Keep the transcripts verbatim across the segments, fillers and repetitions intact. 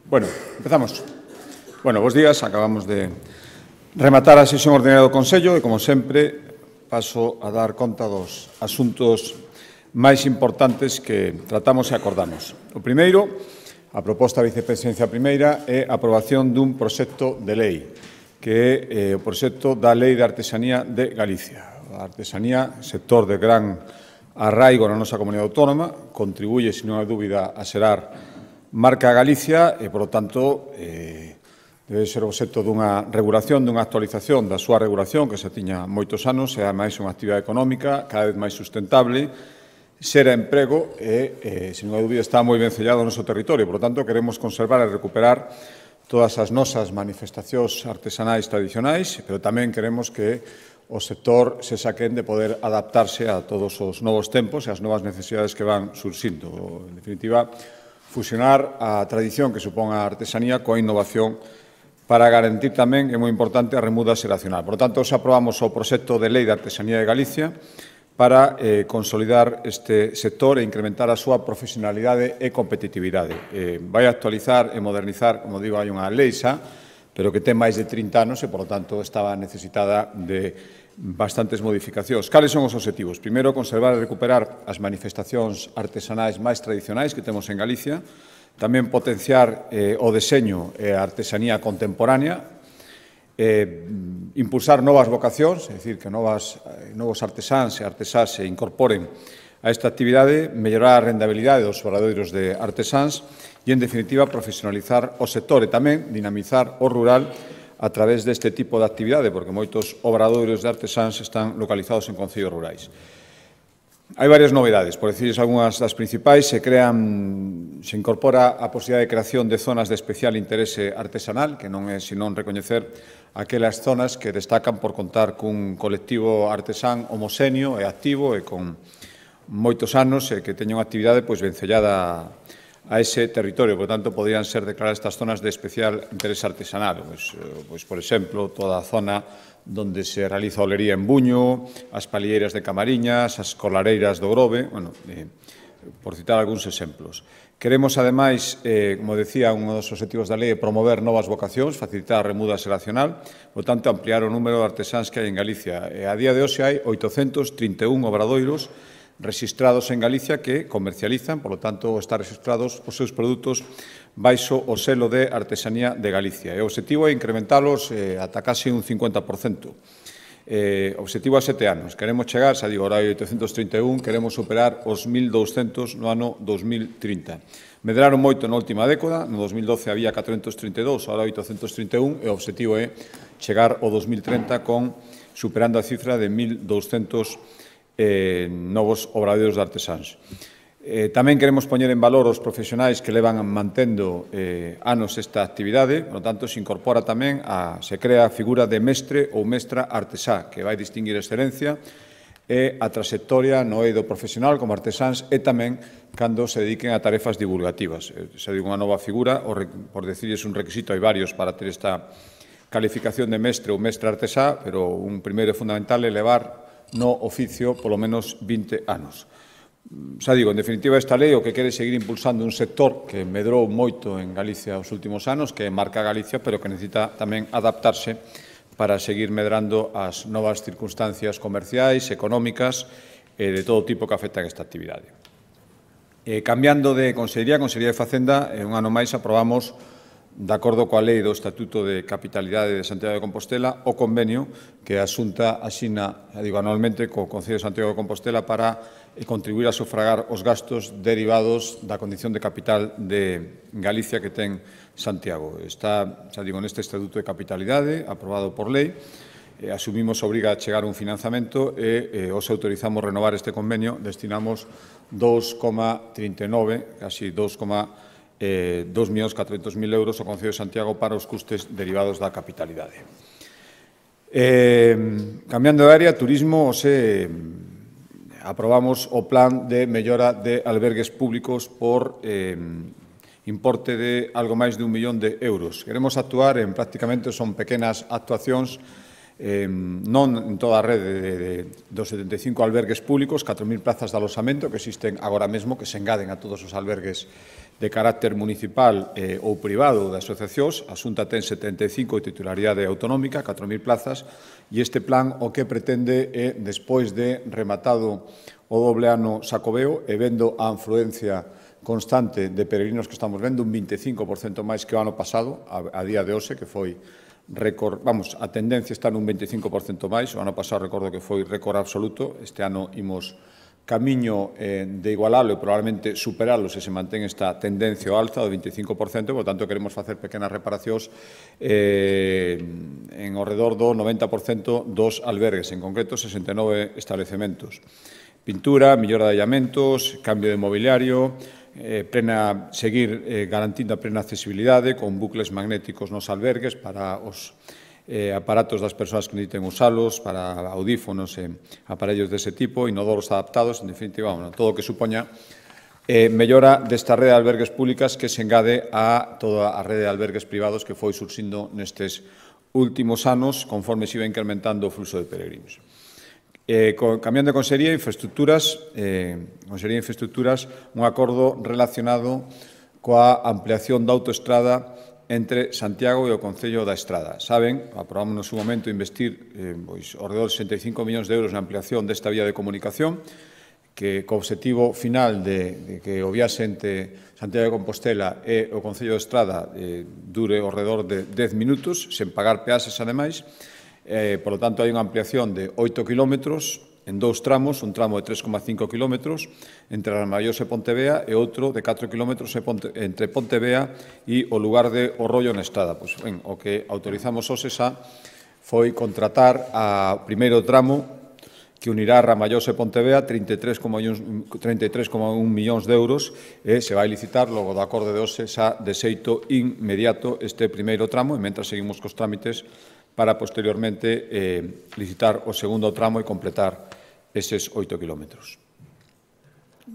Bueno, empezamos. Bueno, bos días. Acabamos de rematar a sesión ordinaria do Consello e, como sempre, paso a dar conta dos asuntos máis importantes que tratamos e acordamos. O primeiro, a proposta da vicepresidencia primeira, é a aprobación dun proxecto de lei, que é eh, o proxecto da Lei de Artesanía de Galicia. A artesanía, sector de gran arraigo na nosa comunidade autónoma, contribuye, sin unha dúbida, a xerar marca Galicia e, por lo tanto, eh, debe ser obxecto dunha regulación, dunha actualización da súa regulación, que se tiña moitos anos, e, ademais, unha actividade económica cada vez máis sustentable, xera emprego e, eh, sin unha dúbida, está moi ben sellado o noso territorio. Por lo tanto, queremos conservar e recuperar todas as nosas manifestacións artesanais tradicionais, pero tamén queremos que o sector se saquen de poder adaptarse a todos os novos tempos e as novas necesidades que van surxindo. En definitiva, fusionar a tradición que supón a artesanía coa innovación para garantir tamén, é moi importante, a remuda xeracional. Por lo tanto, se aprobamos o proxecto de Lei de Artesanía de Galicia para eh, consolidar este sector e incrementar a súa profesionalidade e competitividade. Eh, vai actualizar e modernizar, como digo, hai unha lei xa, pero que ten máis de trinta anos e, por lo tanto, estaba necesitada de bastantes modificacións. Cales son os obxectivos? Primeiro, conservar e recuperar as manifestacións artesanais máis tradicionais que temos en Galicia, tamén potenciar eh, o deseño e a artesanía contemporánea, eh, impulsar novas vocacións, é dicir, que novas, eh, novos artesáns e artesás se incorporen a esta actividade, mellorar a rendabilidade dos obradoiros de artesáns e, en definitiva, profesionalizar o sector e tamén dinamizar o rural a través deste tipo de actividade, porque moitos obradoiros de artesáns están localizados en concellos rurais. Hai varias novedades, por decirles algunhas das principais. Se crean, se incorpora a posibilidade de creación de zonas de especial interese artesanal, que non é senón recoñecer aquelas zonas que destacan por contar cun colectivo artesán homoxéneo e activo e con moitos anos e que teña unha actividade pois vencellada a ese territorio. Por tanto, podrían ser declaradas estas zonas de especial interés artesanal. Pois, pois, por exemplo, toda a zona onde se realiza olería en Buño, as palilleiras de Camariñas, as colareiras do Grove, bueno, eh, por citar algúns exemplos. Queremos, ademais, eh, como decía, un dos obxectivos da lei é promover novas vocacións, facilitar a remuda xeracional, por tanto, ampliar o número de artesáns que hai en Galicia. E a día de hoxe hai oitocentos trinta e un obradoiros rexistrados en Galicia que comercializan, por lo tanto, están registrados os seus produtos baixo o selo de Artesanía de Galicia. E o obxectivo é incrementalos eh, ata case un cincuenta por cento. Eh, obxectivo a sete anos. Queremos chegar, xa digo, ahora hai oitocentos trinta e un, queremos superar os mil douscentos no ano dos mil trinta. Medraron moito na última década, no dos mil doce había catrocentos trinta e dous, ahora oitocentos trinta e un, e o obxectivo é chegar ao dos mil trinta con superando a cifra de mil douscentos Eh, novos obradoiros de artesáns. Eh, tamén queremos poñer en valor os profesionais que levan mantendo eh, anos esta actividade, por lo tanto, se incorpora tamén, a, se crea a figura de mestre ou mestra artesá, que vai distinguir a excelencia e a trayectoria no eido profesional como artesáns e tamén cando se dediquen a tarefas divulgativas. Eh, se digo unha nova figura, o, por decirles un requisito, hai varios para ter esta calificación de mestre ou mestra artesá, pero un primeiro e fundamental é levar no oficio polo menos vinte anos. Xa digo, en definitiva, esta lei o que quere seguir impulsando un sector que medrou moito en Galicia os últimos anos, que marca Galicia, pero que necesita tamén adaptarse para seguir medrando as novas circunstancias comerciais, económicas e de todo tipo que afectan esta actividade. Eh, cambiando de Consellería, Consellería de Facenda, un ano máis aprobamos, de acordo coa lei do Estatuto de Capitalidade de Santiago de Compostela, o convenio que a Xunta asina, digo, anualmente co Concello de Santiago de Compostela para contribuir a sufragar os gastos derivados da condición de capital de Galicia que ten Santiago. Está, xa digo, neste Estatuto de Capitalidade, aprobado por lei, eh, asumimos a obriga a chegar un financiamento e eh, os autorizamos renovar este convenio, destinamos dous coma trinta e nove, casi dous Eh, dos millóns catrocentos mil euros ao Concello de Santiago para os custes derivados da capitalidade. Eh, cambiando de área, turismo, se aprobamos o plan de mellora de albergues públicos por eh, importe de algo máis de un millón de euros. Queremos actuar en prácticamente, son pequenas actuacións eh, non en toda a rede de, de, dos setenta e cinco albergues públicos, catro mil plazas de alosamento que existen agora mesmo, que se engaden a todos os albergues de carácter municipal eh, ou privado de asociacións. A Xunta ten setenta e cinco de titularidade autonómica, catro mil plazas, e este plan o que pretende é, despois de rematado o doble ano Xacobeo e vendo a afluencia constante de peregrinos que estamos vendo, un vinte e cinco por cento máis que o ano pasado, a, a día de hoxe, que foi récord, vamos, a tendencia está nun vinte e cinco por cento máis, o ano pasado recordo que foi récord absoluto, este ano imos camiño eh, de igualalo e probablemente superalo se se mantén esta tendencia ao alza do vinte e cinco por cento, por tanto queremos facer pequenas reparacións eh, en ao redor do noventa por cento dos albergues, en concreto sesenta e nove establecementos. Pintura, millora de allamentos, cambio de mobiliario, eh, plena, seguir eh, garantindo a plena accesibilidade con bucles magnéticos nos albergues para os eh, aparatos das persoas que necesiten usalos, para audífonos e aparellos dese tipo, inodoros adaptados, en definitiva, bueno, todo o que supoña eh, mellora desta rede de albergues públicas que se engade a toda a rede de albergues privados que foi surxindo nestes últimos anos conforme se iba incrementando o fluxo de peregrinos. Eh, con, cambiando de Consellería de Infraestructuras, eh, Consellería de Infraestructuras, un acordo relacionado coa ampliación da autoestrada entre Santiago e o Concello da Estrada. Saben, aprobamos no seu momento investir eh, pois, ao redor de sesenta e cinco millóns de euros na ampliación desta vía de comunicación, que co objetivo final de, de que o viaxe entre Santiago de Compostela e o Concello da Estrada eh, dure ao redor de dez minutos, sen pagar peaxes ademais. Eh, por lo tanto, hai unha ampliación de oito kilómetros en dous tramos, un tramo de tres coma cinco kilómetros entre Armallós e Pontevea e outro de catro kilómetros entre Pontevea e o lugar de O Rollo na Estrada. Pois, ben, o que autorizamos hoxe xa foi contratar a primeiro tramo que unirá Ramallós e Pontevea, trinta e tres coma un millóns de euros, e se vai licitar logo do acordo de hoxe xa de xeito inmediato este primeiro tramo, e mentras seguimos cos trámites para posteriormente eh, licitar o segundo tramo e completar eses oito kilómetros.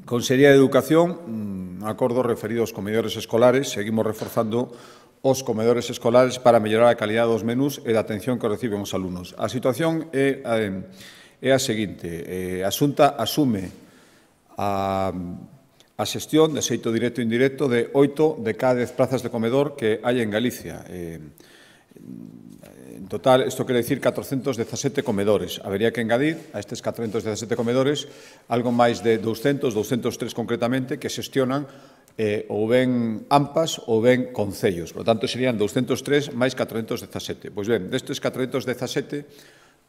Consellería de Educación, un acordo referido aos comedores escolares. Seguimos reforzando os comedores escolares para mellorar a calidad dos menús e da atención que reciben os alumnos. A situación é, é a seguinte. Eh, a Xunta asume a, a xestión de xeito directo e indirecto de oito de cada dez plazas de comedor que hai en Galicia. Eh, En total, isto quere dicir catrocentos dezasete comedores. Habería que engadir a estes catrocentos dezasete comedores algo máis de douscentos, douscentos tres concretamente, que xestionan eh, ou ben AMPAs ou ben concellos. Por lo tanto, serían douscentos tres máis catrocentos dezasete. Pois ben, destes catrocentos dezasete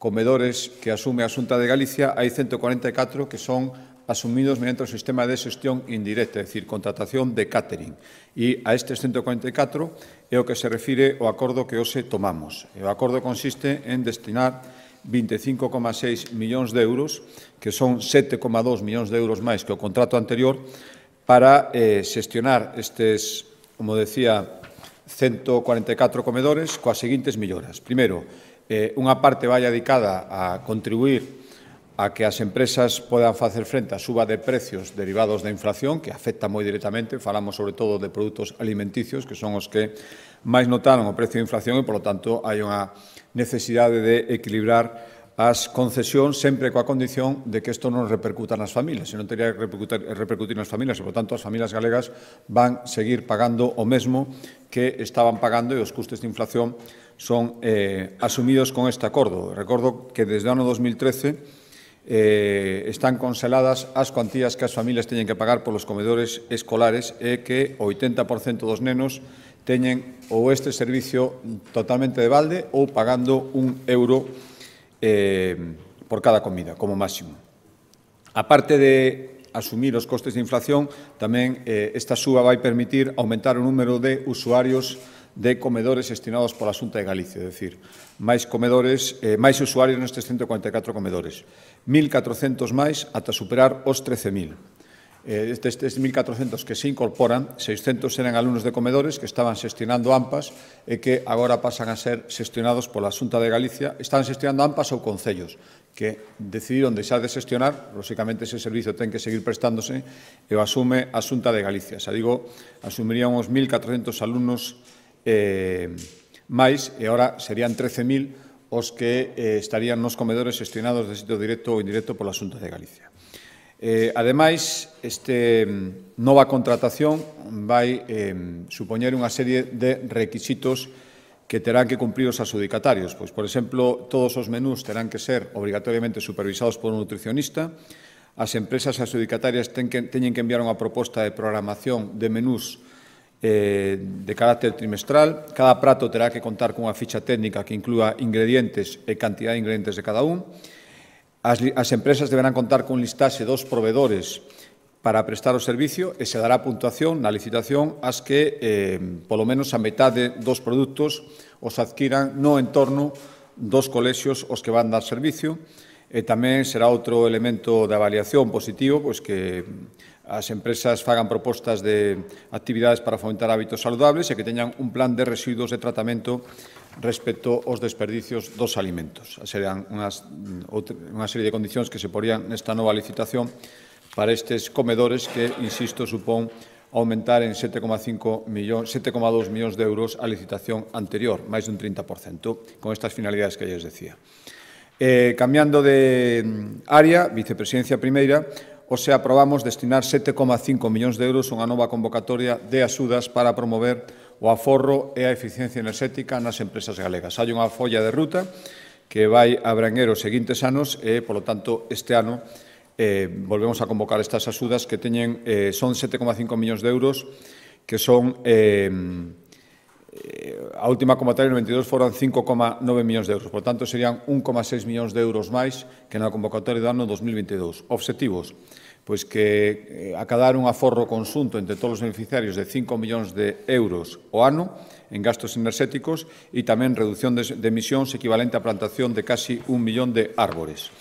comedores que asume a Xunta de Galicia, hai ciento cuarenta e catro que son asumidos mediante o sistema de xestión indirecta, é dicir, contratación de catering. E a estes ciento cuarenta e catro é o que se refire ao acordo que hoxe tomamos. E o acordo consiste en destinar vinte e cinco coma seis millóns de euros, que son sete coma dos millóns de euros máis que o contrato anterior, para eh, xestionar estes, como decía, ciento cuarenta e catro comedores coas seguintes melloras. Primeiro, eh, unha parte vai dedicada a contribuir a que as empresas podan facer frente á suba de precios derivados da inflación, que afecta moi directamente. Falamos sobre todo de produtos alimenticios, que son os que máis notaron o precio de inflación e, por lo tanto, hai unha necesidade de equilibrar as concesións sempre coa condición de que isto non repercuta nas familias. Se non teria que repercutir, repercutir nas familias e, por tanto, as familias galegas van seguir pagando o mesmo que estaban pagando e os custes de inflación son eh, asumidos con este acordo. Recordo que desde o ano dos mil trece Eh, están conseladas as cuantías que as familias teñen que pagar polos comedores escolares e que o oitenta por cento dos nenos teñen ou este servicio totalmente de balde ou pagando un euro eh, por cada comida, como máximo. A parte de asumir os costes de inflación, tamén eh, esta suba vai permitir aumentar o número de usuarios de comedores destinados pola Xunta de Galicia, é dicir, máis comedores, eh, máis usuarios nestes ciento cuarenta e catro comedores, mil catrocentos máis ata superar os trece mil. Eh, destes mil catrocentos que se incorporan, seiscentos eran alumnos de comedores que estaban xestionando AMPAs e que agora pasan a ser xestionados pola Xunta de Galicia. Estaban xestionando AMPAs ou concellos que decidiron deixar de xestionar. Lóxicamente, ese servicio ten que seguir prestándose e o asume a Xunta de Galicia. Xa digo, asumirían os mil catrocentos alumnos eh, máis, e agora serían trece mil os que eh, estarían nos comedores xestionados de sitio directo ou indirecto pola Xunta de Galicia. Eh, ademais, este nova contratación vai eh, supoñer unha serie de requisitos que terán que cumprir os adjudicatarios. Pois, por exemplo, todos os menús terán que ser obrigatoriamente supervisados por un nutricionista. As empresas adjudicatarias ten que, teñen que enviar unha proposta de programación de menús eh, de carácter trimestral. Cada prato terá que contar cunha ficha técnica que inclúa ingredientes e cantidad de ingredientes de cada un. As, as empresas deberán contar cun listaxe dos proveedores para prestar o servicio e se dará puntuación na licitación ás que, eh, polo menos, a metade dos produtos os adquiran no entorno dos colexios os que van dar servicio. E tamén será outro elemento de avaliación positivo, pois que as empresas fagan propostas de actividades para fomentar hábitos saludables e que teñan un plan de residuos de tratamento respecto aos desperdicios dos alimentos. Serán unhas, unha serie de condicións que se porían nesta nova licitación para estes comedores que, insisto, supón aumentar en sete coma dous millóns de euros a licitación anterior, máis dun trinta por cento, con estas finalidades que lles decía. Eh, cambiando de área, vicepresidencia primeira, hoxe aprobamos destinar sete coma cinco millóns de euros a unha nova convocatoria de axudas para promover o aforro e a eficiencia enerxética nas empresas galegas. Hai unha folla de ruta que vai abranguer os seguintes anos e, polo tanto, este ano eh, volvemos a convocar estas axudas que teñen, eh, son sete coma cinco millóns de euros, que son... Eh, a última convocatoria no veintidós foron cinco coma nove millóns de euros. Por tanto, serían un coma seis millóns de euros máis que na convocatoria do ano dos mil veintidós. Obxectivos, pois que acadar un aforro conxunto entre todos os beneficiarios de cinco millóns de euros ao ano en gastos enerxéticos e tamén reducción de emisións equivalente á plantación de casi un millón de árbores.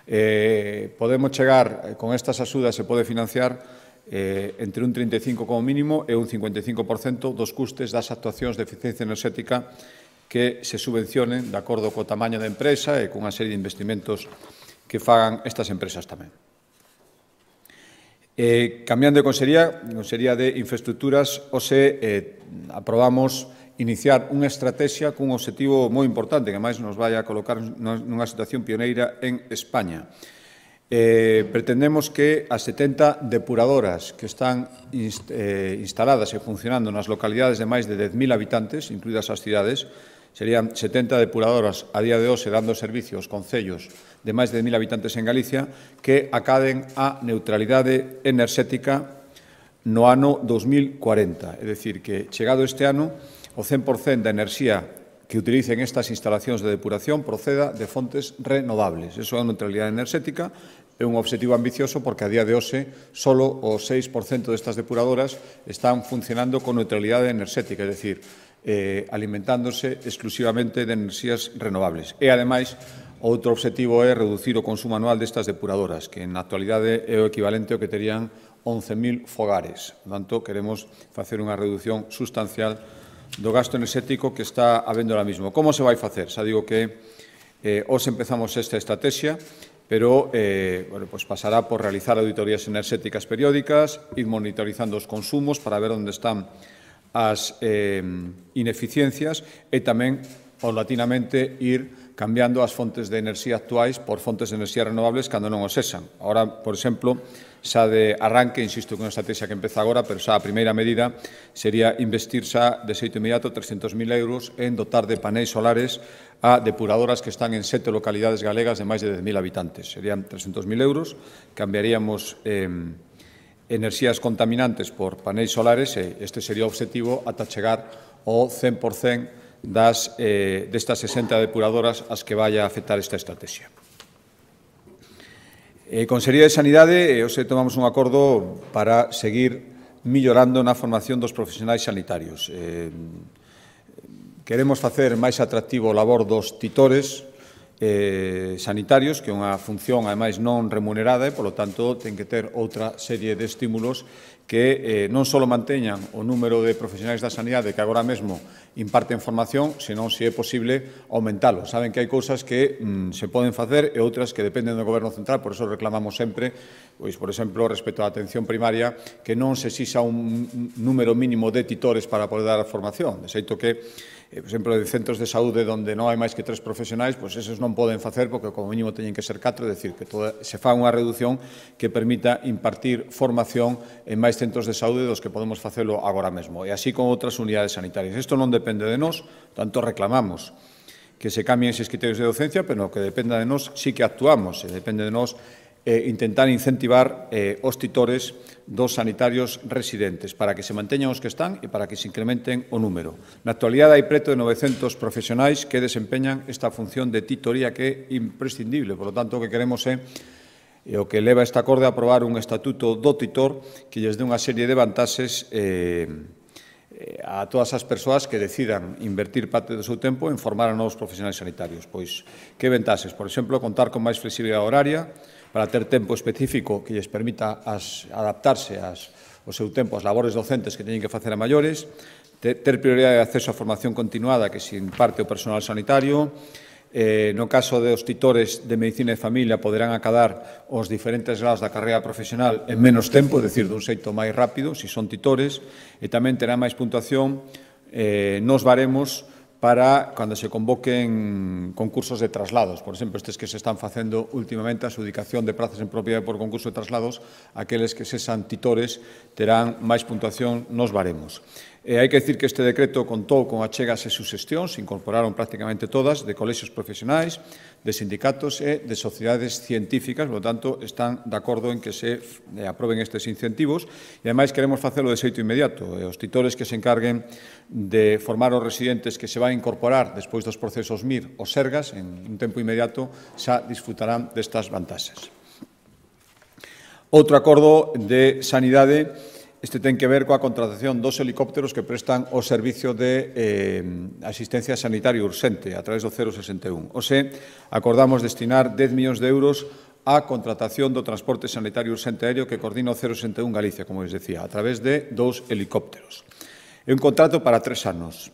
Eh, podemos chegar, con estas axudas se pode financiar Eh, entre un trinta e cinco como mínimo e un cincuenta e cinco por cento dos custes das actuacións de eficiencia enerxética que se subvencionen de acordo co tamaño da empresa e cunha serie de investimentos que fagan estas empresas tamén. Eh, cambiando de consellería, Consellería de Infraestructuras, hoxe eh, aprobamos iniciar unha estrategia cun obxectivo moi importante que máis nos vai a colocar nunha situación pioneira en España. Eh, pretendemos que as setenta depuradoras que están inst eh, instaladas e funcionando nas localidades de máis de dez mil habitantes, incluídas as cidades, serían setenta depuradoras a día de hoxe dando servicio aos concellos de máis de dez mil habitantes en Galicia, que acaden a neutralidade enerxética no ano dos mil cuarenta. É dicir, que chegado este ano, o cen por cento da enerxía que utilicen estas instalacións de depuración proceda de fontes renovables. Eso é a neutralidade enerxética, é un obxectivo ambicioso porque a día de hoxe só o seis por cento destas depuradoras están funcionando con neutralidade enerxética, é dicir, eh, alimentándose exclusivamente de enerxías renovables. E, ademais, outro obxectivo é reducir o consumo anual destas depuradoras, que na actualidade é o equivalente ao que terían once mil fogares. Por tanto, queremos facer unha reducción sustancial do gasto enerxético que está habendo ahora mismo. Como se vai facer? Xa digo que eh, hoxe empezamos esta estrategia, pero eh, bueno, pues pasará por realizar auditorías enerxéticas periódicas, ir monitorizando os consumos para ver onde están as eh, ineficiencias e tamén, paulatinamente, ir cambiando as fontes de enerxía actuais por fontes de enerxía renovables cando non o sexan. Ahora, por exemplo, xa de arranque, insisto que é unha estrategia que empeza agora, pero xa a primeira medida sería investir xa de xeito inmediato trescentos mil euros en dotar de paneis solares a depuradoras que están en sete localidades galegas de máis de dez mil habitantes. Serían trescentos mil euros, cambiaríamos eh, enerxías contaminantes por paneis solares e este sería o obxectivo ata chegar ao cen por cento das, eh, destas sesenta depuradoras ás que vai a afectar esta estrategia. Eh, Consellería de Sanidade, eh, hoxe tomamos un acordo para seguir millorando na formación dos profesionais sanitarios. Eh, queremos facer máis atractivo o labor dos titores eh, sanitarios, que é unha función, ademais, non remunerada e, polo tanto, ten que ter outra serie de estímulos que eh, non só manteñan o número de profesionais da sanidade que agora mesmo imparten formación, senón, se é posible, aumentalo. Saben que hai cousas que mm, se poden facer e outras que dependen do Goberno central, por eso reclamamos sempre, pois, por exemplo, respecto á atención primaria, que non se exixa un número mínimo de titores para poder dar a formación. De xeito que por exemplo, de centros de saúde onde non hai máis que tres profesionais, pois eses non poden facer porque como mínimo teñen que ser catro, é dicir, que se fa unha reducción que permita impartir formación en máis centros de saúde dos que podemos facelo agora mesmo, e así con outras unidades sanitarias. Isto non depende de nós, tanto reclamamos que se cambien eses criterios de docencia, pero no que dependa de nós sí que actuamos, e depende de nós Eh, intentar incentivar eh, os titores dos sanitarios residentes para que se manteñan os que están e para que se incrementen o número. Na actualidade hai preto de novecentos profesionais que desempeñan esta función de titoría que é imprescindible. Por lo tanto, o que queremos é e o que leva esta acorde a aprobar un estatuto do titor que lles dé unha serie de vantaxes eh, a todas as persoas que decidan invertir parte do seu tempo en formar a novos profesionais sanitarios. Pois, que vantaxes? Por exemplo, contar con máis flexibilidade horaria, para ter tempo específico que lles permita as, adaptarse as, ao seu tempo ás labores docentes que teñen que facer a maiores, ter, ter prioridade de acceso á formación continuada que se imparte o personal sanitario, eh, no caso dos titores de Medicina e Familia poderán acadar os diferentes grados da carreira profesional en menos tempo, é dicir, dun xeito máis rápido, se son titores, e tamén terá máis puntuación eh, nos baremos para cando se convoquen concursos de traslados. Por exemplo, estes que se están facendo últimamente, a adjudicación de prazas en propiedade por concurso de traslados, aqueles que sexan titores terán máis puntuación nos baremos. E hai que dicir que este decreto contou con achegas e suxestións, se incorporaron prácticamente todas, de colexios profesionais, de sindicatos e de sociedades científicas, por lo tanto, están de acordo en que se aproben estes incentivos e, ademais, queremos facelo de xeito inmediato. E os titores que se encarguen de formar os residentes que se van a incorporar despois dos procesos M I R ou Sergas, en un tempo inmediato, xa disfrutarán destas vantaxes. Outro acordo de sanidade. Este ten que ver coa contratación dos helicópteros que prestan o servicio de eh, asistencia sanitaria urxente a través do cero sesenta e un. O se, acordamos destinar dez millóns de euros á contratación do transporte sanitario urxente aéreo que coordina o cero sesenta e un Galicia, como les decía, a través de dous helicópteros. É un contrato para tres anos.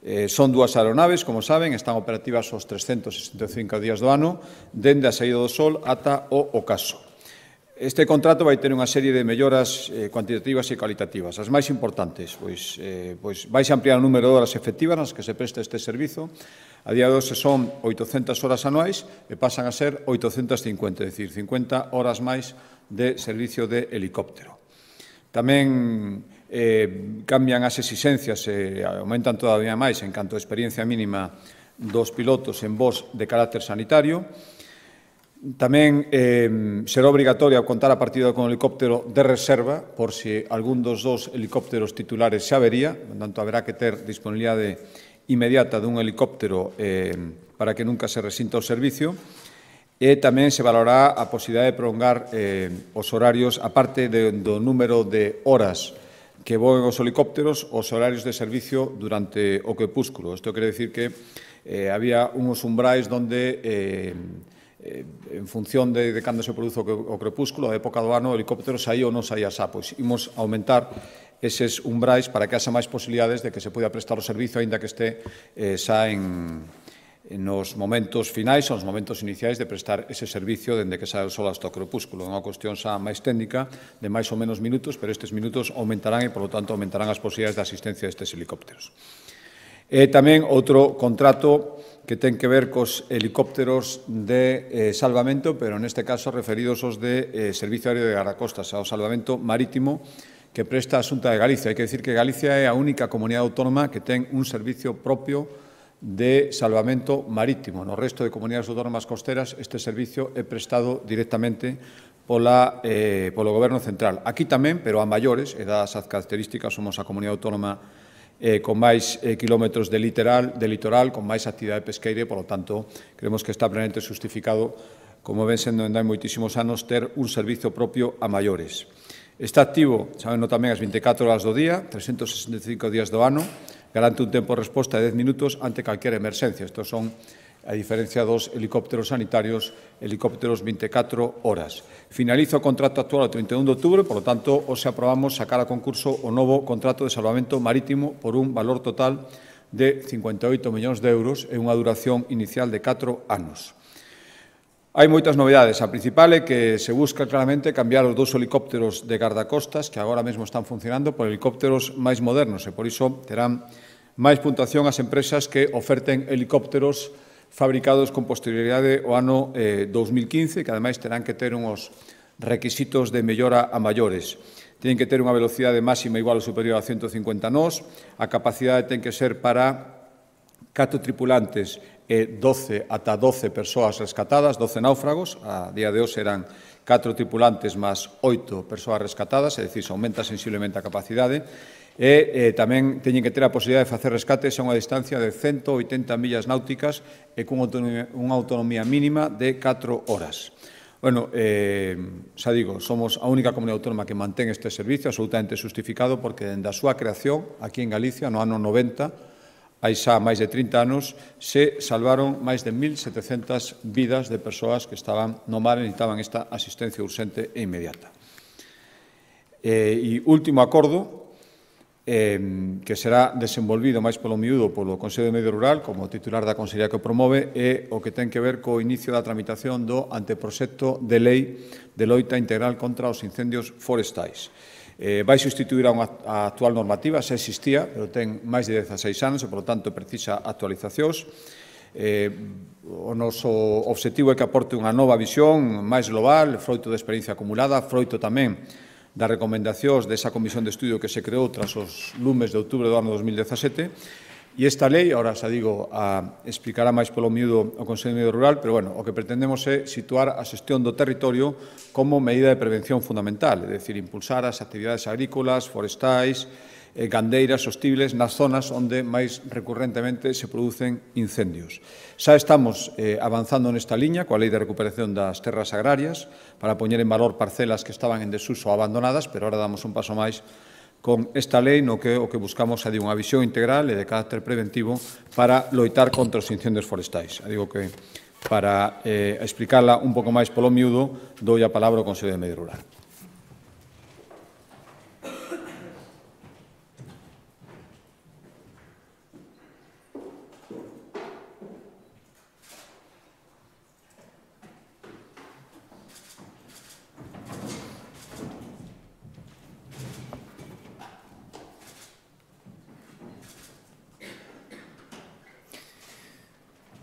Eh, son dúas aeronaves, como saben, están operativas os trescentos sesenta e cinco días do ano, dende a saída do sol ata o ocaso. Este contrato vai ter unha serie de melloras eh, cuantitativas e cualitativas. As máis importantes, pois, eh, pois vais ampliar o número de horas efectivas nas que se presta este servizo. A día de hoxe son oitocentas horas anuais e pasan a ser oitocentas cincuenta, é dicir, cincuenta horas máis de servicio de helicóptero. Tamén eh, cambian as exixencias e aumentan todavía máis en canto a experiencia mínima dos pilotos en voos de carácter sanitario. Tamén eh, será obrigatoria contar a partida con helicóptero de reserva por si algún dos dos helicópteros titulares se avería, por tanto, haberá que ter disponibilidade inmediata dun helicóptero eh, para que nunca se resinta o servicio e tamén se valorará a posibilidade de prolongar eh, os horarios, aparte de, do número de horas que voen os helicópteros, os horarios de servicio durante o crepúsculo. Isto quere dicir que eh, había uns umbrais onde eh, en función de, de cando se produzo o crepúsculo, a época do ano, o helicóptero saía ou non saía xa, pois imos aumentar eses umbrais para que haxa máis posibilidades de que se poida prestar o servicio, aínda que este eh, xa en, en nos momentos finais ou nos momentos iniciais de prestar ese servicio dende que sae o sol hasta o crepúsculo. É unha cuestión xa máis técnica, de máis ou menos minutos, pero estes minutos aumentarán e, por lo tanto, aumentarán as posibilidades de asistencia destes helicópteros. E tamén outro contrato que ten que ver cos helicópteros de eh, salvamento, pero neste caso referidos aos de eh, Servicio Aéreo de Guardacostas, ao salvamento marítimo que presta a Xunta de Galicia. Hai que dicir que Galicia é a única comunidade autónoma que ten un servicio propio de salvamento marítimo. No resto de comunidades autónomas costeras este servicio é prestado directamente pola, eh, polo Goberno Central. Aquí tamén, pero a maiores, e dadas as características, somos a comunidade autónoma Eh, con máis eh, kilómetros de litoral, de litoral, con máis actividade pesqueira e, polo tanto, creemos que está plenamente justificado, como ven sendo en hai moitísimos anos, ter un servizo propio a maiores. Está activo, sabenlo tamén, as vinte e catro horas do día, trescentos sesenta e cinco días do ano, garante un tempo de resposta de dez minutos ante calquera emerxencia. Estos son, a diferencia dos helicópteros sanitarios, helicópteros vinte e catro horas. Finaliza o contrato actual o trinta e un de outubro, por lo tanto, hoxe aprobamos sacar a concurso o novo contrato de salvamento marítimo por un valor total de cincuenta e oito millóns de euros e unha duración inicial de catro anos. Hai moitas novedades. A principal é que se busca claramente cambiar os dous helicópteros de gardacostas que agora mesmo están funcionando por helicópteros máis modernos e, por iso, terán máis puntuación ás empresas que oferten helicópteros fabricados con posterioridade ao ano eh, dous mil quince, que ademais terán que ter uns requisitos de mellora a maiores. Tienen que ter unha velocidade máxima igual ou superior a ciento cincuenta nós, a capacidade ten que ser para catro tripulantes e doce ata doce persoas rescatadas, doce náufragos, a día de hoxe eran catro tripulantes máis oito persoas rescatadas, é dicir, se aumenta sensiblemente a capacidade, e eh, tamén teñen que ter a posibilidade de facer rescates a unha distancia de ciento oitenta millas náuticas e cunha autonomía, unha autonomía mínima de catro horas. Bueno, eh, xa digo, somos a única comunidade autónoma que mantén este servicio absolutamente justificado porque dende a súa creación aquí en Galicia no ano noventa, hai xa máis de trinta anos, se salvaron máis de mil setecentas vidas de persoas que estaban no mar e necesitaban esta asistencia urxente e inmediata. E, e último acordo, eh, que será desenvolvido máis polo miúdo polo Consello de Medio Rural, como titular da Consellería que o promove, é o que ten que ver co inicio da tramitación do anteproxecto de lei de loita integral contra os incendios forestais. Eh, vai sustituir a unha a actual normativa, xa existía, pero ten máis de dezaseis anos e, por tanto, precisa actualizacións. Eh, o noso obxectivo é que aporte unha nova visión máis global, froito de experiencia acumulada, froito tamén das recomendacións desa comisión de estudio que se creou tras os lumes de outubro do ano dos mil dezasete. E esta lei, ahora xa digo, a explicará máis polo miúdo o Consello de Medio Rural, pero, bueno, o que pretendemos é situar a xestión do territorio como medida de prevención fundamental, é dicir, impulsar as actividades agrícolas, forestais, eh, gandeiras sostibles nas zonas onde máis recurrentemente se producen incendios. Xa estamos eh, avanzando nesta liña coa Lei de Recuperación das Terras Agrarias para poñer en valor parcelas que estaban en desuso ou abandonadas, pero ahora damos un paso máis con esta lei no que o que buscamos é unha visión integral e de carácter preventivo para loitar contra os incendios forestais. Digo que para eh, explicarla un pouco máis polo miúdo, dou a palabra ao Consello de Medio Rural.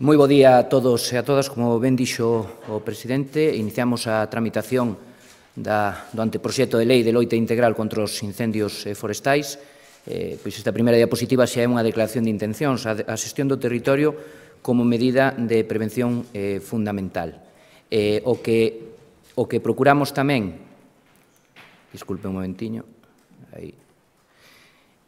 Moi bo día a todos e a todas. Como ben dixo o presidente, iniciamos a tramitación da, do anteproxecto de lei de loita integral contra os incendios forestais. Eh, pois esta primeira diapositiva xa é unha declaración de intencións, a, a xestión do territorio como medida de prevención eh, fundamental. Eh, o, que, o que procuramos tamén, disculpe un momentiño, aí,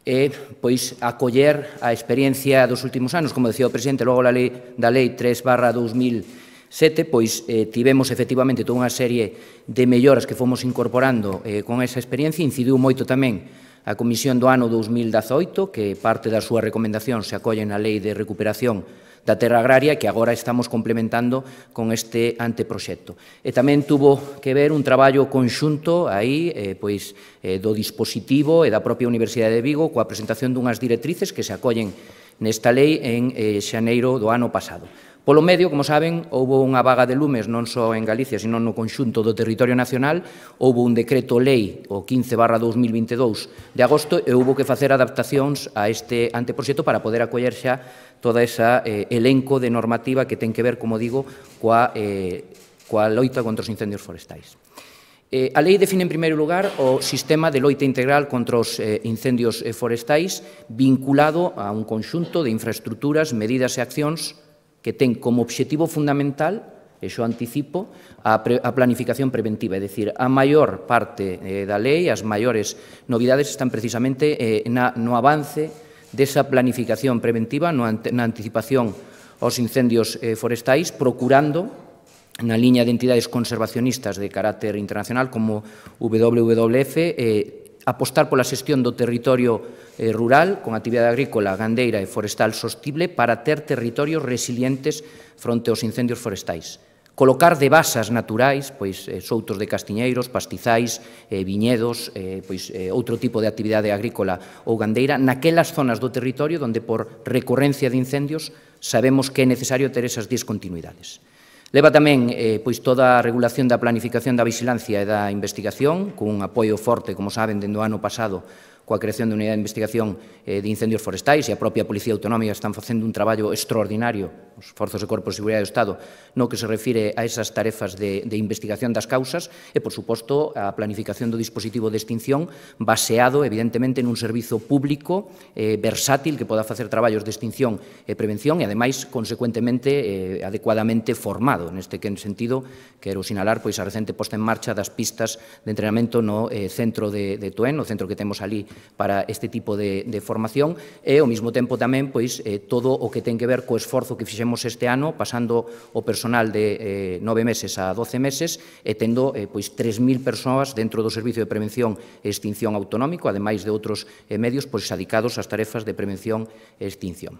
e pois acoller a experiencia dos últimos anos, como decía o presidente, logo a lei, da lei tres barra dos mil sete, pois eh, tivemos efectivamente toda unha serie de melloras que fomos incorporando eh, con esa experiencia. Incidiu moito tamén a Comisión do ano dos mil dezaoito, que parte das súas recomendacións se acollen na Lei de Recuperación da Terra Agraria, que agora estamos complementando con este anteproxecto. E tamén tuvo que ver un traballo conxunto aí, eh, pois, eh, do dispositivo e da propia Universidade de Vigo coa presentación dunhas directrices que se acollen nesta lei en eh, xaneiro do ano pasado. Polo medio, como saben, houve unha vaga de lumes non só en Galicia, sino no conxunto do territorio nacional. Houve un decreto lei, o quince barra dos mil vinte e dous de agosto, e houve que facer adaptacións a este anteproxecto para poder acoller xa toda esa eh, elenco de normativa que ten que ver, como digo, coa, eh, coa loita contra os incendios forestais. Eh, a lei define, en primeiro lugar, o sistema de loita integral contra os eh, incendios forestais vinculado a un conxunto de infraestructuras, medidas e accións que ten como obxectivo fundamental, e xo anticipo, a, pre, a planificación preventiva, é dicir, a maior parte eh, da lei, as maiores novidades están precisamente eh, na, no avance desa planificación preventiva, no, na anticipación aos incendios eh, forestais, procurando, na liña de entidades conservacionistas de carácter internacional como W W F, eh, apostar pola xestión do territorio eh, rural con actividade agrícola, gandeira e forestal sostible para ter territorios resilientes fronte aos incendios forestais. Colocar de basas naturais, pois eh, soutos de castiñeiros, pastizais, eh, viñedos, eh, pois eh, outro tipo de actividade agrícola ou gandeira naquelas zonas do territorio onde por recurrencia de incendios sabemos que é necesario ter esas discontinuidades. Leva tamén eh, pois toda a regulación da planificación da vigilancia e da investigación, cun apoio forte, como saben, dende o ano pasado, coa creación da Unidade de Investigación de Incendios Forestais, e a propia Policía Autonómica están facendo un traballo extraordinario, os forzos e corpos de seguridade do Estado, no que se refire a esas tarefas de, de investigación das causas, e, por suposto, a planificación do dispositivo de extinción baseado, evidentemente, nun servizo público eh, versátil que poda facer traballos de extinción e prevención e, ademais, consecuentemente, eh, adecuadamente formado. Neste sentido, quero sinalar pois, a recente posta en marcha das pistas de entrenamento no eh, centro de, de Toen, no centro que temos ali para este tipo de, de formación, e, ao mesmo tempo, tamén, pois, eh, todo o que ten que ver co esforzo que fixemos este ano, pasando o personal de eh, nove meses a doce meses, e tendo eh, pois, tres mil persoas dentro do Servicio de Prevención e Extinción Autonómico, ademais de outros eh, medios pois, adicados ás tarefas de prevención e extinción.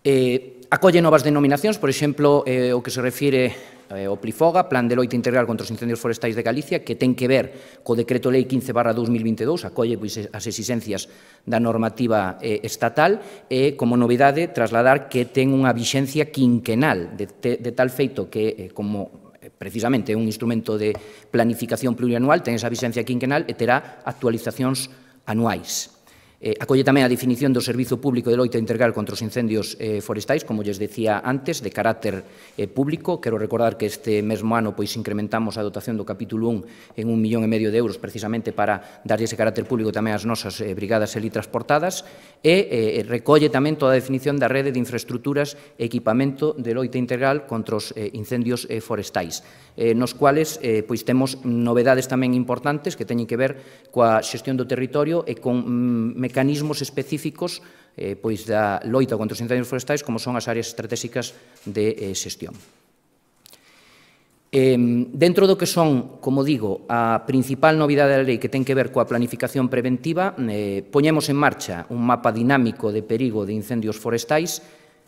Eh, acolle novas denominacións, por exemplo, eh, o que se refire eh, ao PLIFOGA, Plan de Loita Integral contra os Incendios Forestais de Galicia, que ten que ver co Decreto Lei quince barra dos mil vinte e dous, acolle pois, as exigencias da normativa eh, estatal, e, como novidade, trasladar que ten unha vixencia quinquenal, de, de, de tal feito que, eh, como precisamente é un instrumento de planificación plurianual, ten esa vixencia quinquenal e terá actualizacións anuais. Eh, acolle tamén a definición do Servizo Público de Loita Integral contra os Incendios eh, Forestais, como lles decía antes, de carácter eh, público. Quero recordar que este mesmo ano pois, incrementamos a dotación do capítulo un en un millón e medio de euros precisamente para dar ese carácter público tamén ás nosas eh, brigadas elitransportadas, e eh, recolle tamén toda a definición da rede de infraestructuras e equipamento de loita integral contra os eh, incendios eh, forestais, eh, nos cuales eh, pois, temos novedades tamén importantes que teñen que ver coa xestión do territorio e con mm, mecanismos específicos eh, pois da loita contra os incendios forestais, como son as áreas estratégicas de eh, xestión. Eh, dentro do que son, como digo, a principal novidade da lei que ten que ver coa planificación preventiva, eh, poñemos en marcha un mapa dinámico de perigo de incendios forestais.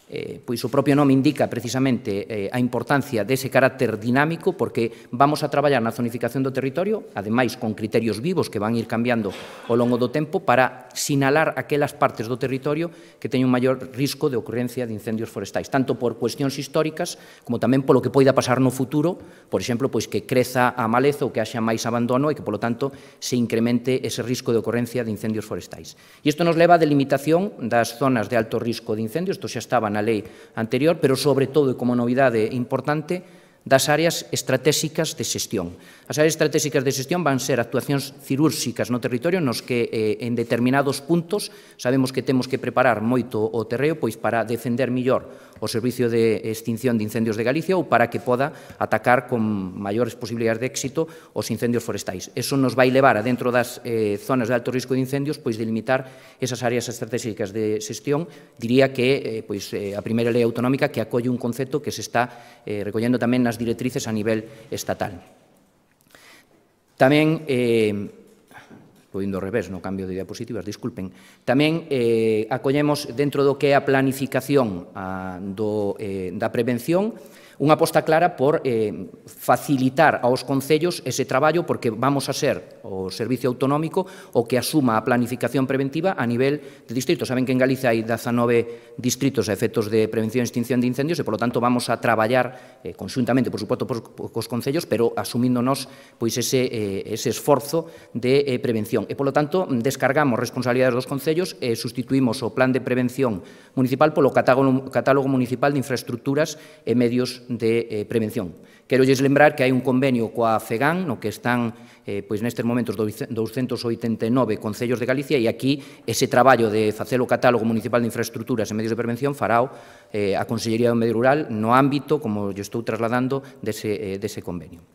Eh, pois o propio nome indica precisamente eh, a importancia dese carácter dinámico, porque vamos a traballar na zonificación do territorio, ademais con criterios vivos que van ir cambiando ao longo do tempo, para sinalar aquelas partes do territorio que teñen un maior risco de ocurrencia de incendios forestais, tanto por cuestións históricas como tamén polo que poida pasar no futuro, por exemplo, pois que creza a maleza ou que haxa máis abandono e que, polo tanto, se incremente ese risco de ocurrencia de incendios forestais. E isto nos leva a delimitación das zonas de alto risco de incendios, isto xa estaba na na lei anterior, pero sobre todo, e como novidade importante, das áreas estratégicas de xestión. As áreas estratégicas de xestión van ser actuacións cirúrxicas no territorio nos que eh, en determinados puntos sabemos que temos que preparar moito o terreo pois para defender millor o Servicio de Extinción de Incendios de Galicia ou para que poda atacar con maiores posibilidades de éxito os incendios forestais. Eso nos vai levar a dentro das eh, zonas de alto risco de incendios pois delimitar esas áreas estratégicas de xestión. Diría que eh, pois, eh, a primeira lei autonómica que acolle un concepto que se está eh, recollendo tamén nas directrices a nivel estatal. Tamén, eh, vou indo ao revés no cambio de diapositivas, disculpen, tamén eh, acollemos dentro do que é a planificación a, do, eh, da prevención unha aposta clara por eh, facilitar aos concellos ese traballo, porque vamos a ser o Servicio Autonómico o que asuma a planificación preventiva a nivel de distritos. Saben que en Galicia hai dezanove distritos a efectos de prevención e extinción de incendios e, polo tanto, vamos a traballar eh, conxuntamente, por suposto, cos concellos, pero asumíndonos pois, ese, eh, ese esforzo de eh, prevención. E, polo tanto, descargamos responsabilidades dos concellos e sustituímos o Plan de Prevención Municipal polo catálogo, catálogo municipal de infraestructuras e medios de eh, prevención. Quero lles lembrar que hai un convenio coa FEGAN, no que están eh, pois nestes momentos douscentos oitenta e nove concellos de Galicia, e aquí ese traballo de facer o catálogo municipal de infraestructuras e medios de prevención fará eh, a Consellería do Medio Rural no ámbito, como lle estou trasladando, dese, eh, dese convenio.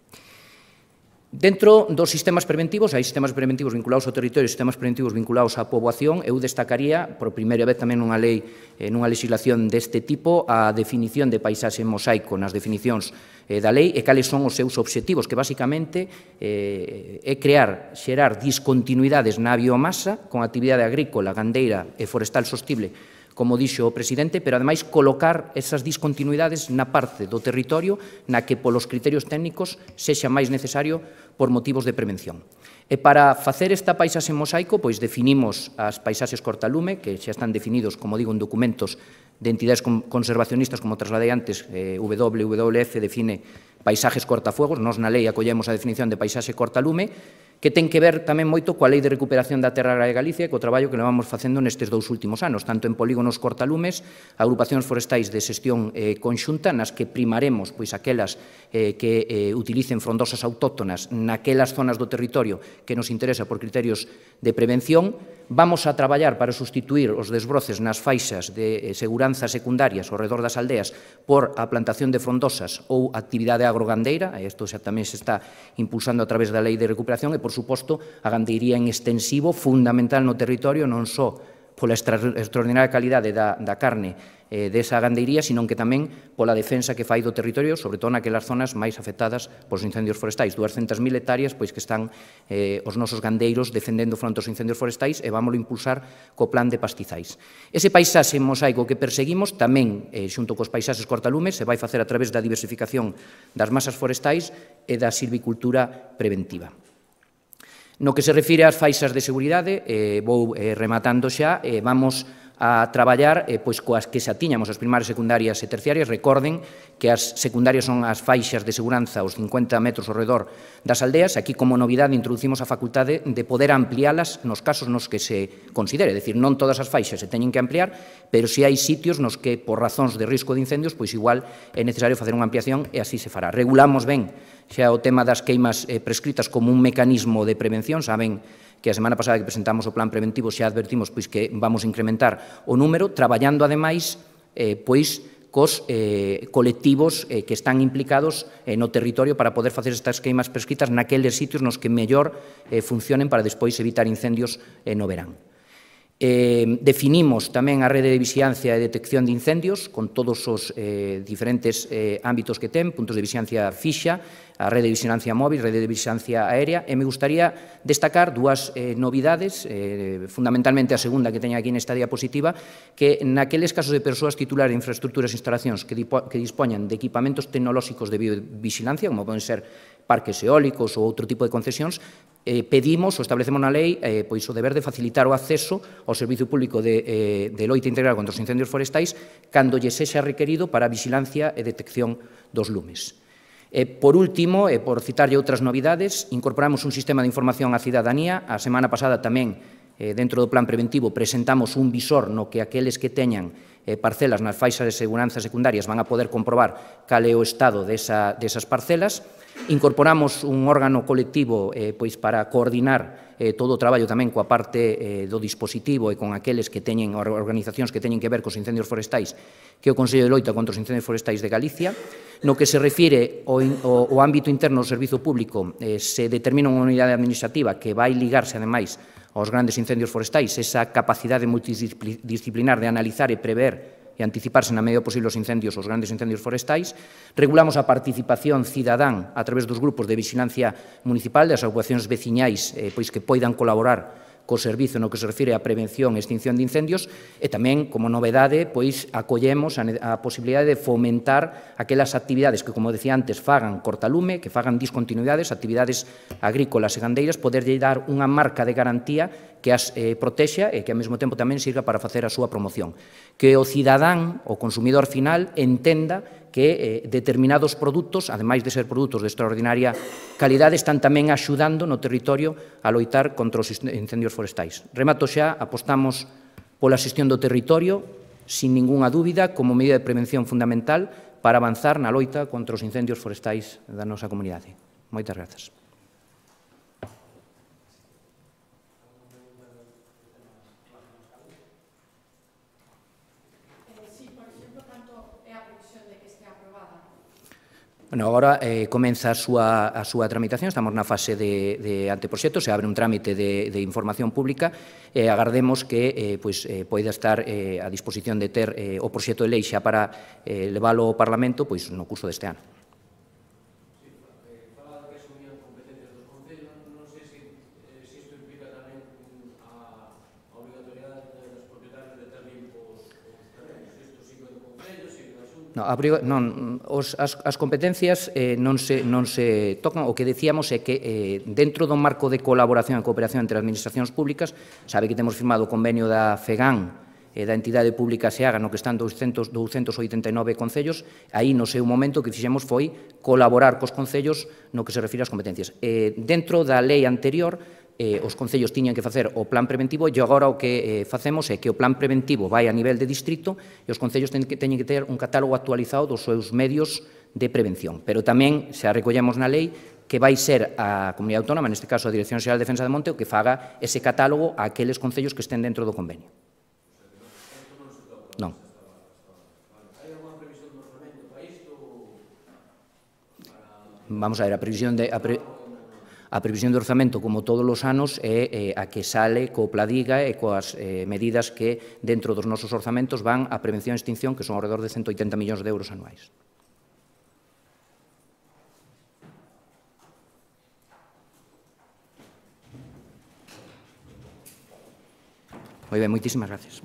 Dentro dos sistemas preventivos, hai sistemas preventivos vinculados ao territorio e sistemas preventivos vinculados á poboación. Eu destacaría, por primeira vez tamén nunha lei, nunha legislación deste tipo, a definición de paisaxe mosaico nas definicións da lei e cales son os seus obxectivos, que basicamente é crear, xerar discontinuidades na biomasa con actividade agrícola, gandeira e forestal sostible, como dixo o presidente, pero ademais colocar esas discontinuidades na parte do territorio na que polos criterios técnicos sexa máis necesario por motivos de prevención. E para facer esta paisaxe mosaico, pois definimos as paisaxes cortalume, que xa están definidos, como digo, en documentos de entidades conservacionistas, como trasladei antes, eh, W W F define paisaxes cortafuegos, nos na lei acollemos a definición de paisaxe cortalume, que ten que ver tamén moito coa Lei de Recuperación da Terra de Galicia e co traballo que levamos facendo nestes dous últimos anos, tanto en polígonos cortalumes, agrupacións forestais de xestión eh, conxunta, nas que primaremos pois, aquelas eh, que eh, utilicen frondosas autóctonas naquelas zonas do territorio que nos interesa por criterios de prevención. Vamos a traballar para sustituir os desbroces nas faixas de eh, seguranza secundarias ao redor das aldeas por a plantación de frondosas ou actividade agrogandeira, e isto xa tamén se está impulsando a través da Lei de Recuperación, e, por suposto, a gandeiría en extensivo, fundamental no territorio, non só pola extraordinaria calidade da, da carne eh, desa gandeiría, sino que tamén pola defensa que fai do territorio, sobre todo naquelas zonas máis afectadas polos incendios forestais. duascentas mil hectáreas pois, que están eh, os nosos gandeiros defendendo fronte aos incendios forestais e vámoslo impulsar co plan de pastizais. Ese paisaxe mosaico que perseguimos tamén, eh, xunto cos paisaxes cortalumes, se vai facer a través da diversificación das masas forestais e da silvicultura preventiva. No que se refire ás faixas de seguridade, eh, vou eh, rematando xa, eh, vamos a traballar eh, pois, coas que xa tiñamos as primarias, secundarias e terciarias. Recorden que as secundarias son as faixas de seguranza aos cincuenta metros ao redor das aldeas. Aquí, como novidade, introducimos a facultade de poder ampliálas nos casos nos que se considere. É dicir, non todas as faixas se teñen que ampliar, pero si hai sitios nos que, por razóns de risco de incendios, pois igual é necesario facer unha ampliación e así se fará. Regulamos ben xa o tema das queimas eh, prescritas como un mecanismo de prevención. Saben que a semana pasada que presentamos o plan preventivo xa advertimos pois, que vamos a incrementar o número, traballando ademais eh, pois, cos eh, colectivos eh, que están implicados eh, no territorio para poder facer estas queimas prescritas naqueles sitios nos que mellor eh, funcionen para despois evitar incendios eh, no verán. Eh, definimos tamén a rede de vixiancia e detección de incendios con todos os eh, diferentes eh, ámbitos que ten, puntos de vixiancia fixa, a rede de vixilancia móvil, rede de vixilancia aérea, e me gustaría destacar dúas eh, novidades, eh, fundamentalmente a segunda que teña aquí nesta diapositiva, que naqueles casos de persoas titulares de infraestructuras e instalacións que, que dispoñan de equipamentos tecnolóxicos de biovigilancia, como poden ser parques eólicos ou outro tipo de concesións, eh, pedimos ou establecemos na lei eh, pois, o deber de facilitar o acceso ao servicio público de, eh, de loita integral contra os incendios forestais cando lle sexa requerido para a vigilancia e detección dos lumes. E, por último, e por citarlle outras novidades, incorporamos un sistema de información á cidadanía. A semana pasada tamén, eh, dentro do plan preventivo, presentamos un visor no que aqueles que teñan eh, parcelas nas faixas de seguranza secundarias van a poder comprobar cal é o estado desa, desas parcelas. Incorporamos un órgano colectivo eh, pois para coordinar eh, todo o traballo tamén coa parte eh, do dispositivo e con aqueles que teñen organizacións que teñen que ver cos incendios forestais, que é o Consello de Loita contra os Incendios Forestais de Galicia. No que se refire ao, ao, ao ámbito interno do servizo público, eh, se determina unha unidade administrativa que vai ligarse, ademais, aos grandes incendios forestais, esa capacidade multidisciplinar de analizar e prever e anticiparse na medida posible os incendios, os grandes incendios forestais. Regulamos a participación cidadán a través dos grupos de vigilancia municipal, das agrupacións veciñais eh, pois que poidan colaborar co servizo no que se refire á prevención e extinción de incendios, e tamén, como novedade, pois acollemos a, a posibilidade de fomentar aquelas actividades que, como decía antes, fagan cortalume, que fagan discontinuidades, actividades agrícolas e gandeiras, poderlle dar unha marca de garantía que as eh, protexa e que ao mesmo tempo tamén sirva para facer a súa promoción. Que o cidadán, o consumidor final, entenda que eh, determinados produtos, ademais de ser produtos de extraordinaria calidade, están tamén axudando no territorio a loitar contra os incendios forestais. Remato xa, apostamos pola xestión do territorio, sin ningunha dúbida, como medida de prevención fundamental para avanzar na loita contra os incendios forestais da nosa comunidade. Moitas grazas. Bueno, agora eh, comeza a súa, a súa tramitación, estamos na fase de, de anteproxecto, se abre un trámite de, de información pública e eh, agardemos que eh, pois, eh, poida estar eh, a disposición de ter eh, o proxecto de lei xa para eh, leválo ao Parlamento pois, no curso deste ano. No, a, non, os, as, as competencias eh, non, se, non se tocan. O que decíamos é que eh, dentro do marco de colaboración e cooperación entre administracións públicas, sabe que temos firmado o convenio da FEGAN da entidade pública SEAGA, no que están douscentos oitenta e nove concellos, aí no seu momento o que fixemos foi colaborar cos concellos no que se refire ás competencias. Dentro da lei anterior, os concellos tiñan que facer o plan preventivo e agora o que facemos é que o plan preventivo vai a nivel de distrito e os concellos teñen que ter un catálogo actualizado dos seus medios de prevención. Pero tamén, xa recollemos na lei, que vai ser a Comunidade Autónoma, neste caso a Dirección Xeral de Defensa de Monte, o que faga ese catálogo a aqueles concellos que estén dentro do convenio. Non. Hai alguna previsión do orzamento para isto? Vamos a ver, a previsión de... A, pre... a previsión de orzamento, como todos os anos, é a que sale co Pladiga e coas medidas que dentro dos nosos orzamentos van a prevención e extinción, que son alrededor de ciento oitenta millóns de euros anuais. Moi ben, moitísimas gracias.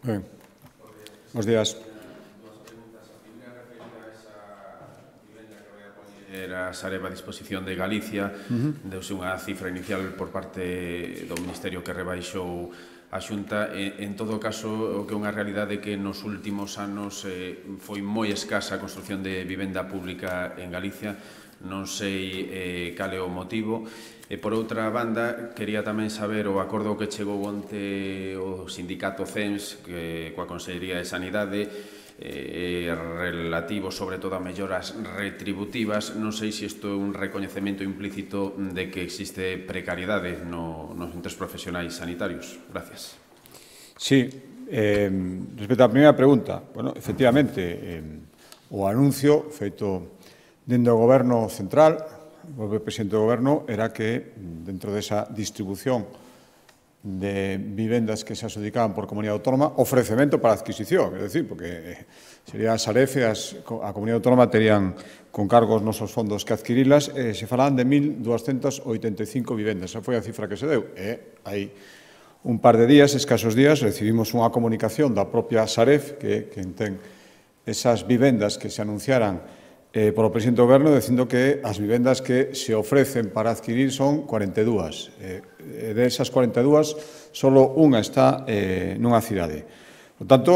Ben, bos días. Era Sareb a disposición de Galicia, uh-huh. deuse unha cifra inicial por parte do Ministerio que rebaixou a Xunta. En, en todo caso, o que é unha realidade que nos últimos anos eh, foi moi escasa a construción de vivenda pública en Galicia. Non sei eh, cal é o motivo. E, por outra banda, quería tamén saber o acordo que chegou onte o sindicato C E N S que, coa Consellería de Sanidade, eh, relativo sobre todo a melloras retributivas. Non sei se isto é un recoñecemento implícito de que existe precariedade no, nos centros profesionais sanitarios. Gracias. Sí, eh, respecto á primeira pregunta, bueno, efectivamente, eh, o anuncio feito dentro do Goberno Central, o presidente do Goberno, era que dentro desa distribución de vivendas que se adjudicaban por comunidade autónoma, ofrecemento para adquisición, é dicir, porque sería a Sareb e a comunidade autónoma terían con cargos nosos fondos que adquirilas, e se falaban de mil duascentas oitenta e cinco vivendas, esa foi a cifra que se deu, e hai un par de días, escasos días, recibimos unha comunicación da propia Sareb, que, que ten esas vivendas que se anunciaran Eh, polo presidente do Goberno, dicindo que as vivendas que se ofrecen para adquirir son cuarenta e dúas. Eh, de esas cuarenta e dúas, só unha está eh, nunha cidade. Por tanto,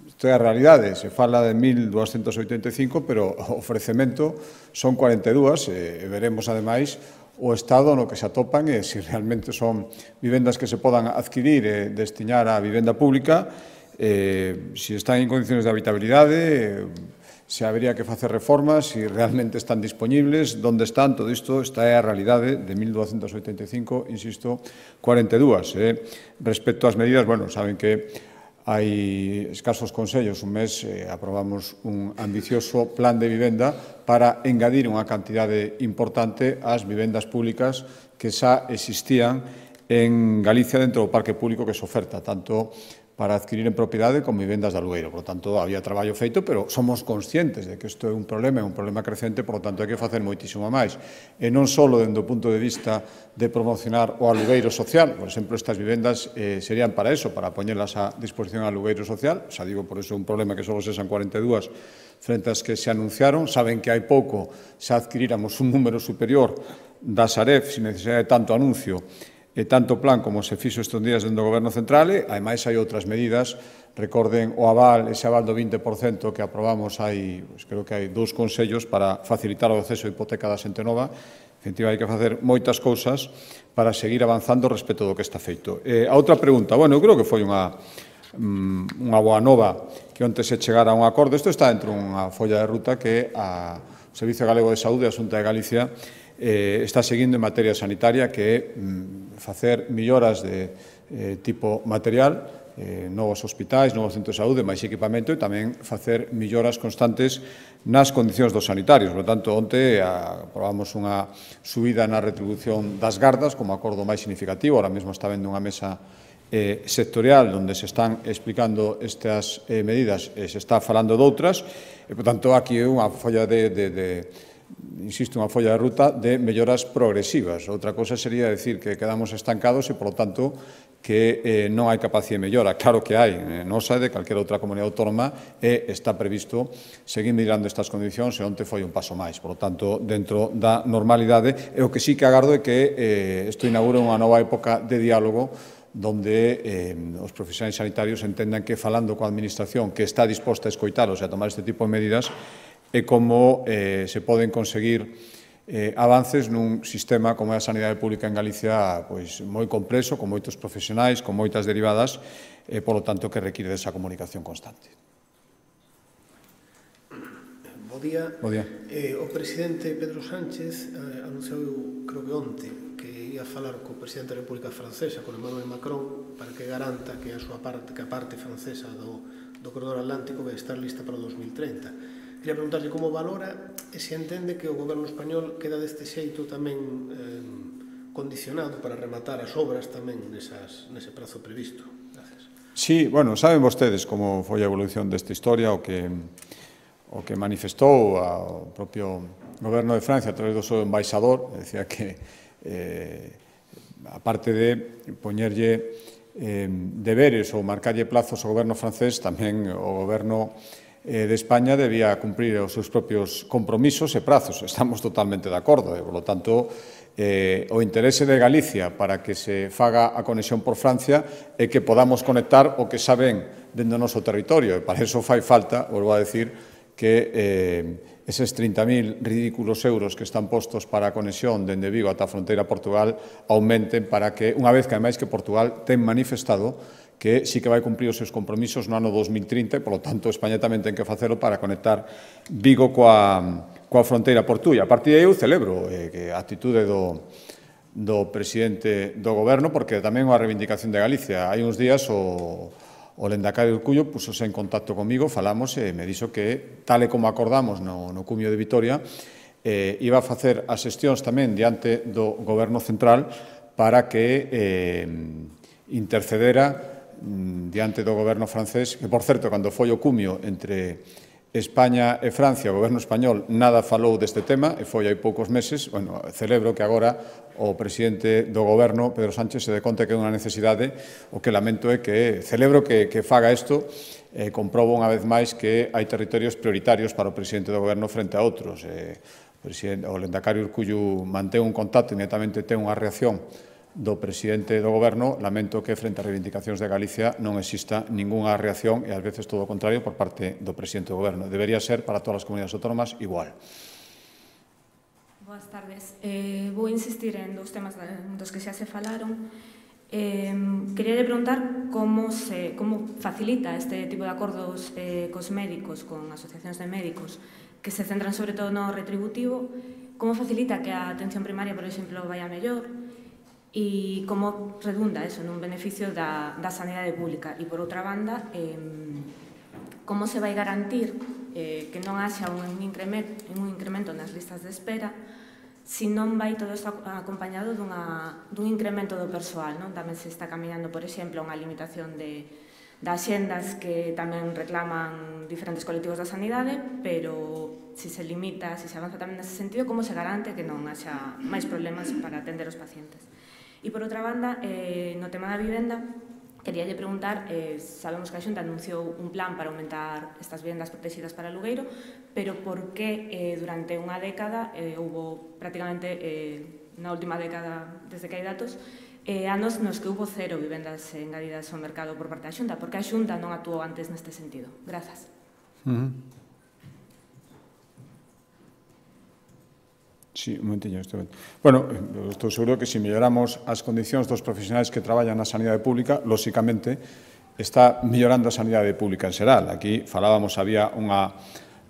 isto é a realidade. Se fala de mil duascentas oitenta e cinco, pero o ofrecemento son cuarenta e dúas. E veremos, ademais, o estado no que se atopan e se realmente son vivendas que se podan adquirir e destinar á vivenda pública, eh, se están en condiciones de habitabilidade, eh, se habería que facer reformas, se realmente están disponibles, onde están, todo isto, esta é a realidade de mil duascentas oitenta e cinco, insisto, cuarenta e dúas. Eh. Respecto ás medidas, bueno, saben que hai escasos consellos, un mes eh, aprobamos un ambicioso plan de vivenda para engadir unha cantidade importante ás vivendas públicas que xa existían en Galicia dentro do parque público que se oferta, tanto para adquirir en propiedade con vivendas de alugueiro. Por lo tanto, había traballo feito, pero somos conscientes de que isto é un problema, é un problema crecente, por lo tanto, hai que facer moitísimo máis. E non só dende o punto de vista de promocionar o alugueiro social, por exemplo, estas vivendas eh, serían para eso, para poñelas a disposición ao alugueiro social, xa digo, por eso é un problema que só sexan cuarenta e dúas frente ás que se anunciaron. Saben que hai pouco se adquiríramos un número superior da Sareb, sin necesidade de tanto anuncio, e tanto plan como se fixo estes días dentro do Goberno Central, e, ademais, hai outras medidas. Recorden o aval, ese aval do vinte por cento que aprobamos hai, pues, creo que hai dous consellos para facilitar o acceso a hipoteca da xente nova. En definitiva, hai que facer moitas cousas para seguir avanzando respecto do que está feito. Eh, a outra pregunta, bueno, eu creo que foi unha, unha boa nova que onte se chegara a un acordo. Isto está dentro dunha folla de ruta que a, o Servicio Galego de Saúde e a Xunta de Galicia eh, está seguindo en materia sanitaria, que é mm, facer melloras de eh, tipo material, eh, novos hospitais, novos centros de saúde, máis equipamento, e tamén facer melloras constantes nas condicións dos sanitarios. Por tanto, onte aprobamos unha subida na retribución das gardas como acordo máis significativo. Ahora mesmo está vendo unha mesa eh, sectorial onde se están explicando estas eh, medidas e se está falando doutras, e, por tanto, aquí é unha folla de, de, de insisto, unha folla de ruta de melloras progresivas. Outra cosa sería decir que quedamos estancados e, por lo tanto, que eh, non hai capacidade de mellora. Claro que hai, eh, nosa de calquera outra comunidade autónoma e está previsto seguir mirando estas condicións e onte foi un paso máis. Por lo tanto, dentro da normalidade, e o que sí que agardo é que eh, isto inaugura unha nova época de diálogo donde eh, os profesionais sanitarios entendan que falando coa administración que está disposta a escoitalos e a tomar este tipo de medidas é como eh, se poden conseguir eh, avances nun sistema como é a sanidade pública en Galicia pois, moi complexo, con moitos profesionais, con moitas derivadas, e, polo tanto, que require desa comunicación constante. Bo día. Bo día. Eh, o presidente Pedro Sánchez eh, anunciou, creo que onte, que ia falar co presidente da República Francesa, con Emmanuel Macron, para que garanta que a súa parte, que a parte francesa do, do corredor atlántico vai estar lista para o dos mil treinta. Queria preguntarle como valora e se entende que o goberno español queda deste xeito tamén eh, condicionado para rematar as obras tamén nesas, nese prazo previsto. Gracias. Sí, bueno, saben vostedes como foi a evolución desta historia, o que, o que manifestou o propio goberno de Francia a través do seu embaixador, decía que eh, aparte de poñerlle eh, deberes ou marcarlle plazos ao goberno francés, tamén o goberno de España debía cumprir os seus propios compromisos e prazos. Estamos totalmente de acordo. E, por lo tanto, eh, o interese de Galicia para que se faga a conexión por Francia é que podamos conectar o que saben dentro do noso territorio. E para eso fai falta, volvo a decir, que eh, eses trinta mil ridículos euros que están postos para a conexión dende Vigo ata a fronteira a Portugal aumenten para que, unha vez que, ademais, que Portugal ten manifestado que sí que vai cumprir os seus compromisos no ano dos mil trinta e, polo tanto, España tamén ten que facelo para conectar Vigo coa, coa fronteira portuguesa. A partir de aí eu celebro eh, que a atitude do, do presidente do goberno, porque tamén é unha reivindicación de Galicia. Hai uns días o, o Lendacario Urcullo pusose en contacto comigo, falamos e me dixo que, tal e como acordamos no, no cumio de Vitoria, eh, iba a facer as xestións tamén diante do goberno central para que eh, intercedera diante do goberno francés, que, por certo, cando foi o cumio entre España e Francia, o goberno español nada falou deste tema, e foi hai poucos meses. Bueno, celebro que agora o presidente do goberno, Pedro Sánchez, se dé conta que é unha necesidade. O que lamento é que celebro que, que faga isto, eh, comprobo unha vez máis que hai territorios prioritarios para o presidente do goberno frente a outros. Eh, o, presidente, o Lendacario Urcullo mantén un contacto, inmediatamente ten unha reacción do presidente do goberno. Lamento que frente a reivindicacións de Galicia non exista ningunha reacción e ás veces todo o contrario por parte do presidente do goberno. Debería ser para todas as comunidades autónomas igual. Boas tardes. Eh, vou insistir en dos temas dos que xa se falaron. Eh, quería preguntar como, se, como facilita este tipo de acordos eh, cos médicos, con asociacións de médicos, que se centran sobre todo no retributivo, como facilita que a atención primaria, por exemplo, vaya mellor, e como redunda eso nun beneficio da, da sanidade pública. E, por outra banda, eh, como se vai garantir eh, que non haxa un incremento, un incremento nas listas de espera se non vai todo isto acompañado dunha, dun incremento do persoal, non? Tamén se está caminando, por exemplo, unha limitación de, de axendas que tamén reclaman diferentes colectivos da sanidade, pero se se limita, se se avanza tamén nese sentido, como se garante que non haxa máis problemas para atender os pacientes? E, por outra banda, eh, no tema da vivenda, queríalle preguntar, eh, sabemos que a Xunta anunciou un plan para aumentar estas vivendas protegidas para alugueiro, pero por que eh, durante unha década, eh, houve prácticamente, eh, na última década, desde que hai datos, eh, anos nos que houve cero vivendas engadidas ao mercado por parte da Xunta? Porque a Xunta non actuou antes neste sentido? Grazas. Uh-huh. Sí, un momentinho. Estou... Bueno, estou seguro que se melloramos as condicións dos profesionais que traballan na sanidade pública, lóxicamente, está mellorando a sanidade pública en xeral. Aquí falábamos, había unha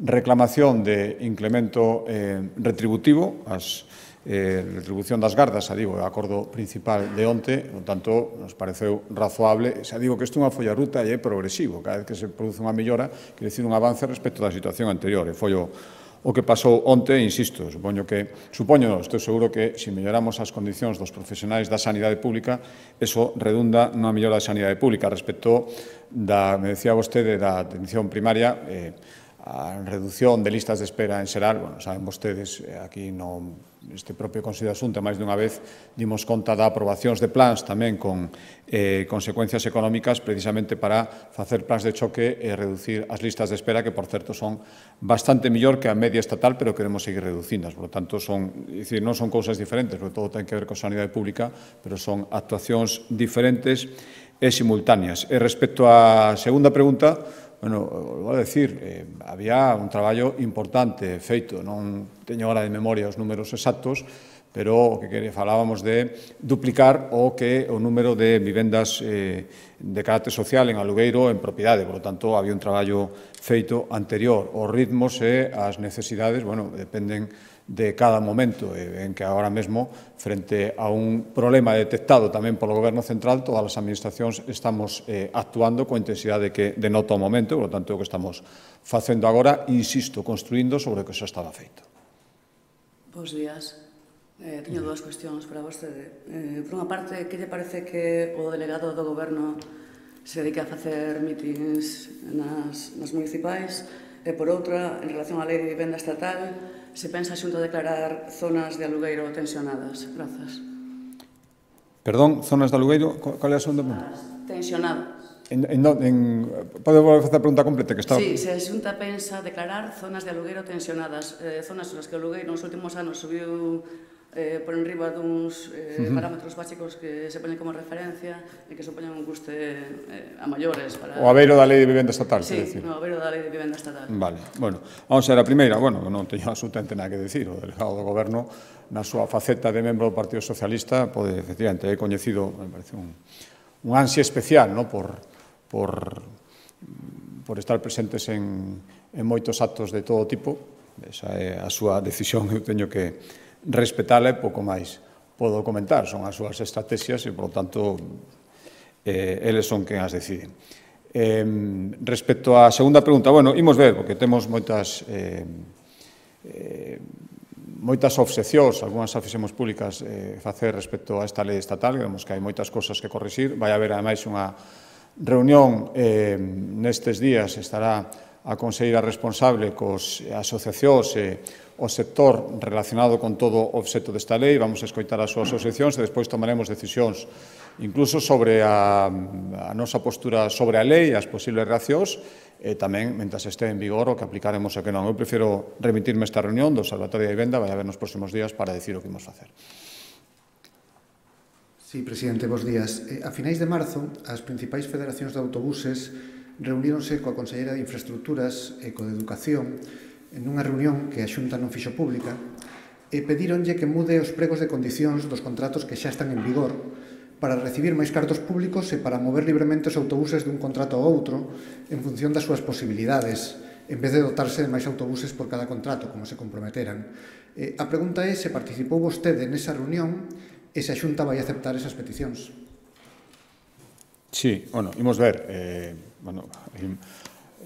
reclamación de incremento eh, retributivo, as eh, retribución das gardas, xa digo, o acordo principal de onte, no tanto, nos pareceu razoable. Xa digo que isto é unha folla ruta e é progresivo. Cada vez que se produce unha mellora, quere dicir un avance respecto da situación anterior. E foi o o que pasou onte, insisto, supoño que, supoño, estou seguro que se melloramos as condicións dos profesionais da sanidade pública, eso redunda nunha mellora da sanidade pública. Respecto da, me decía vostede, da atención primaria, eh, a reducción de listas de espera en xeral, bueno, saben vostedes, aquí no, este propio Consello de Asunta, máis dunha vez, dimos conta da aprobacións de plans tamén con eh, consecuencias económicas precisamente para facer plans de choque e reducir as listas de espera, que, por certo, son bastante mellor que a media estatal, pero queremos seguir reducindas. Por lo tanto, son, dicir, non son cousas diferentes, porque todo ten que ver con sanidade pública, pero son actuacións diferentes e simultáneas. E respecto á segunda pregunta, bueno, vou a decir, eh, había un traballo importante feito, non teño ahora de memoria os números exactos, pero o que falábamos de duplicar o que o número de vivendas eh, de carácter social en alugueiro en propiedade. Por lo tanto, había un traballo feito anterior. Os ritmos e as necesidades, bueno, dependen de cada momento, en que agora mesmo, frente a un problema detectado tamén polo Goberno Central, todas as administracións estamos eh, actuando coa intensidade que denota o momento, por lo tanto, o que estamos facendo agora, insisto, construindo sobre o que xa estaba feito. Bos días. Eh, teño dúas cuestións para vostede. Eh, por unha parte, que lle parece que o delegado do Goberno se dedica a facer mítings nas, nas municipais? E, por outra, en relación á lei de vivenda estatal, se pensa xunto a declarar zonas de alugueiro tensionadas? Grazas. Perdón, zonas de alugueiro? Cal é a segunda pregunta? Tensionadas. En, en, en, pode volver a facer a pregunta completa? Que está... Sí, se a Xunta pensa declarar zonas de alugueiro tensionadas, eh, zonas nas que o alugueiro nos últimos anos subiu eh, por enriba duns eh, uh -huh. parámetros básicos que se ponen como referencia e que supoñen un custe eh, a maiores para... O aveiro da Lei de Vivenda Estatal, sí, quer decir. no, o aveiro da Lei de Vivenda Estatal. Vale, bueno, vamos a ver a primeira, bueno, non teño absolutamente nada que decir, o delegado do Goberno na súa faceta de membro do Partido Socialista pode, efectivamente, é coñecido, me parece un, un ansia especial, no, por, por, por estar presentes en, en moitos actos de todo tipo, esa é a súa decisión, eu teño que respetala e pouco máis podo comentar, son as súas estrategias e, por lo tanto, eh, eles son quen as deciden. Eh, respecto á segunda pregunta, bueno, imos ver, porque temos moitas eh, eh, moitas obsesións, algunhas a fixemos públicas eh, facer respecto a esta lei estatal, vemos que hai moitas cosas que corrixir, vai haber, ademais, unha reunión eh, nestes días, estará a conselleira responsable cos asociacións e o sector relacionado con todo o obxecto desta lei, vamos a escoitar as súas asociacións e despois tomaremos decisións incluso sobre a, a nosa postura sobre a lei, as posibles reaccións, e tamén, mentras este en vigor, o que aplicaremos e que non. Eu prefiro remitirme a esta reunión do Observatorio de Vivenda, vai haber nos próximos días para decir o que imos facer. Sí, presidente, bos días. A finais de marzo, as principais federacións de autobuses reuníronse coa Conselleira de Infraestructuras e coa de Educación en unha reunión que a Xunta non fixo pública e pedíronlle que mude os pregos de condicións dos contratos que xa están en vigor para recibir máis cartos públicos e para mover libremente os autobuses dun contrato a outro en función das súas posibilidades, en vez de dotarse de máis autobuses por cada contrato, como se comprometeran. Eh, a pregunta é se participou vostede nesa reunión e se a Xunta vai aceptar esas peticións. Sí, bueno, imos ver, eh, bueno,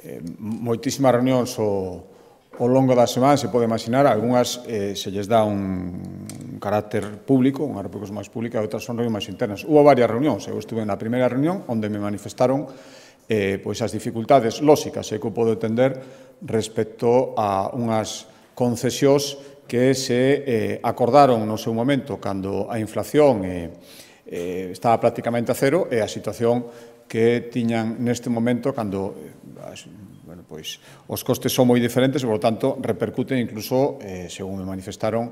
eh, moitísimas reunións o, ao longo da semana, se pode imaginar, algunhas eh, se lles dá un, un carácter público, unhas repercusión máis pública, e outras son reunións máis internas. Hubo varias reunións, eu estuve na primeira reunión, onde me manifestaron eh, pois as dificultades lóxicas que eu podo entender respecto a unhas concesións que se eh, acordaron no seu momento cando a inflación eh, eh, estaba prácticamente a cero e a situación que tiñan neste momento cando eh, bueno, pois, os costes son moi diferentes e, por lo tanto, repercuten incluso, eh, según me manifestaron,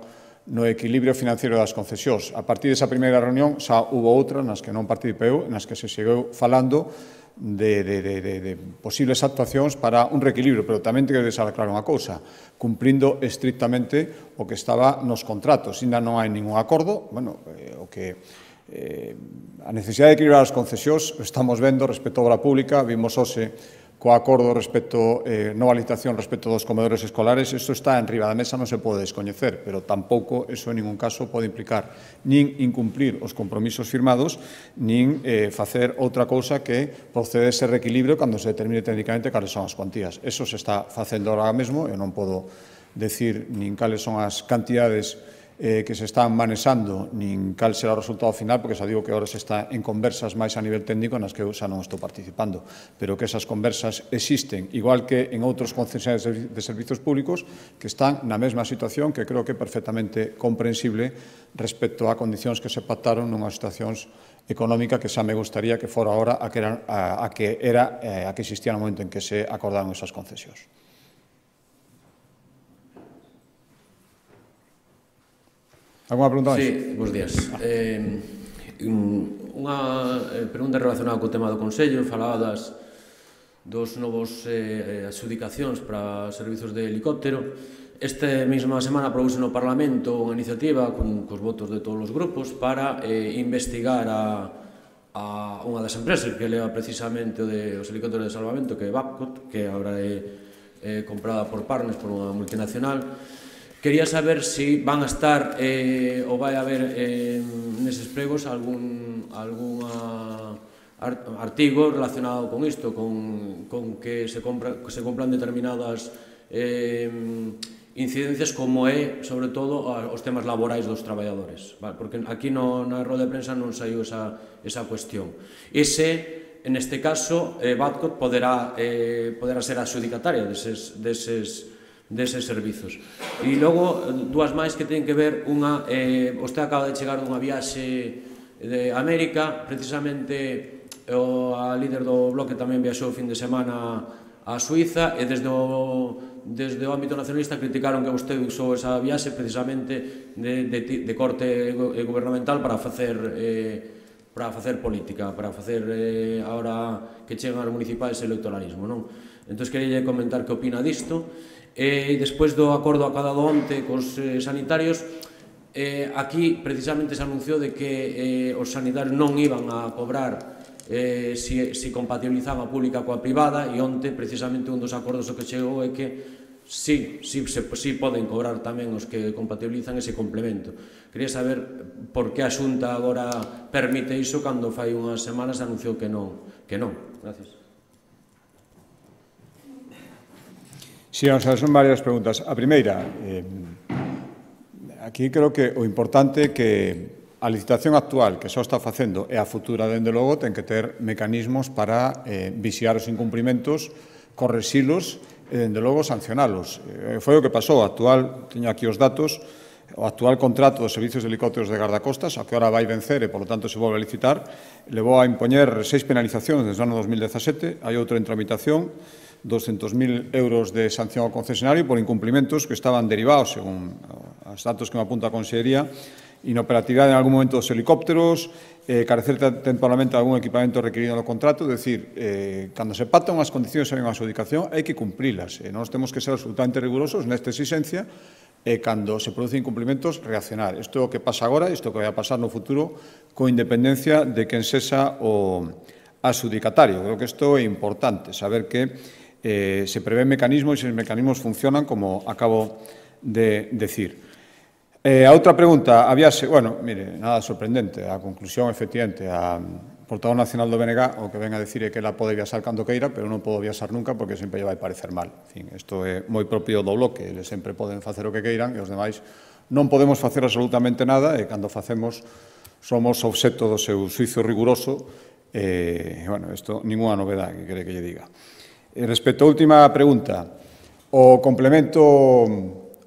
no equilibrio financiero das concesións. A partir desa primeira reunión xa hubo outra nas que non participeu, nas que se seguiu falando de, de, de, de, de posibles actuacións para un reequilibrio, pero tamén teño que deixar claro unha cousa, cumprindo estrictamente o que estaba nos contratos. Ainda non hai ningún acordo, bueno, eh, o que eh, a necesidade de equilibrar as concesións estamos vendo respecto á obra pública, vimos hoxe co acordo respecto, eh, nova licitación respecto dos comedores escolares, isto está en riba da mesa, non se pode descoñecer, pero tampouco eso en ningún caso pode implicar nin incumplir os compromisos firmados, nin eh, facer outra cousa que procede ese reequilibrio cando se determine técnicamente cales son as cuantías. Eso se está facendo agora mesmo, eu non podo decir nin cales son as cantidades eh, que se están manexando, nin cal será o resultado final, porque xa digo que agora se está en conversas máis a nivel técnico nas que eu xa non estou participando, pero que esas conversas existen, igual que en outros concesionarios de servizos públicos que están na mesma situación, que creo que é perfectamente comprensible respecto a condicións que se pactaron nunhas situacións económica que xa me gustaría que fora ahora a que era a, a que, era, eh, a que existía no momento en que se acordaron esas concesións. Alguna pregunta máis? Sí, bons días. Eh, unha pregunta relacionada co tema do Consello, faladas dos novos eh, adxudicacións para servizos de helicóptero. Esta mesma semana aprobouse no Parlamento unha iniciativa con, cos votos de todos os grupos para eh, investigar a, a unha das empresas que leva precisamente o de, os helicópteros de salvamento, que é Babcock, que agora é, é comprada por Partners, por unha multinacional. Quería saber se si van a estar eh, ou vai haber eh, neses pregos algún alguna artigo relacionado con isto, con, con que se, compra, que se compran determinadas eh, incidencias como é, sobre todo, os temas laborais dos traballadores, vale? Porque aquí no, na roda de prensa non saiu esa, esa cuestión. Ese, en este caso, eh, Babcock poderá, eh, poderá ser adxudicataria deses, deses deses servizos. E logo, dúas máis que teñen que ver unha, eh, vostede acaba de chegar dunha viaxe de América, precisamente o, a líder do bloque tamén viaxou o fin de semana a Suiza, e desde o, desde o ámbito nacionalista criticaron que vostede usou esa viaxe precisamente de, de, de corte gubernamental para facer eh, para facer política, para facer eh, ahora que chegan as municipais electoralismo, non? Entón, queria comentar que opina disto. E despois do acordo acordado onte cos eh, sanitarios, eh, aquí precisamente se anunciou de que eh, os sanitarios non iban a cobrar eh, si, si compatibilizaban a pública coa privada, e onte precisamente un dos acordos que chegou é que sí, sí, se, sí poden cobrar tamén os que compatibilizan ese complemento. Quería saber por que a Xunta agora permite iso cando fai unhas semanas anunciou que non. Que non. Gracias. Sí, vamos a ver, son varias preguntas. A primeira, eh, aquí creo que o importante é que a licitación actual que só está facendo e a futura, dende logo, ten que ter mecanismos para eh, vixiar os incumprimentos, correxilos e, dende logo, sancionalos. Eh, foi o que pasou. O actual, teño aquí os datos, o actual contrato dos servicios de helicópteros de gardacostas, a que ahora vai vencer e, polo tanto, se volve a licitar, levou a impoñer seis penalizacións desde o ano dos mil dezasete, hai outro en tramitación, doscientos mil euros de sanción ao concesionario por incumplimentos que estaban derivados, según os datos que me apunta a Consellería, inoperatividade en algún momento dos helicópteros, eh, carecer temporalmente de algún equipamento requerido no contrato, é dicir, eh, cando se pactan as condicións e unha adxudicación, hai que cumprilas. Eh, nós temos que ser absolutamente rigurosos nesta exigencia e cando se producen incumplimentos, reaccionar. Isto é o que pasa agora, isto é o que vai a pasar no futuro, con independencia de quen sexa o adxudicatario. Creo que isto é importante, saber que Eh, se prevén mecanismos e os mecanismos funcionan como acabo de decir. Eh, a outra pregunta, a viaxe, bueno, mire, nada sorprendente, a conclusión, efectivamente, a portavoz nacional do B N G o que ven a decir é que ela pode viaxar cando queira, pero non podo viaxar nunca porque sempre lle vai parecer mal. En fin, isto é moi propio do bloque, eles sempre poden facer o que queiran e os demais non podemos facer absolutamente nada e cando facemos somos obxecto do seu xuizo riguroso e, bueno, isto ninguna novedade que quere que lle diga. E respecto á última pregunta, o complemento,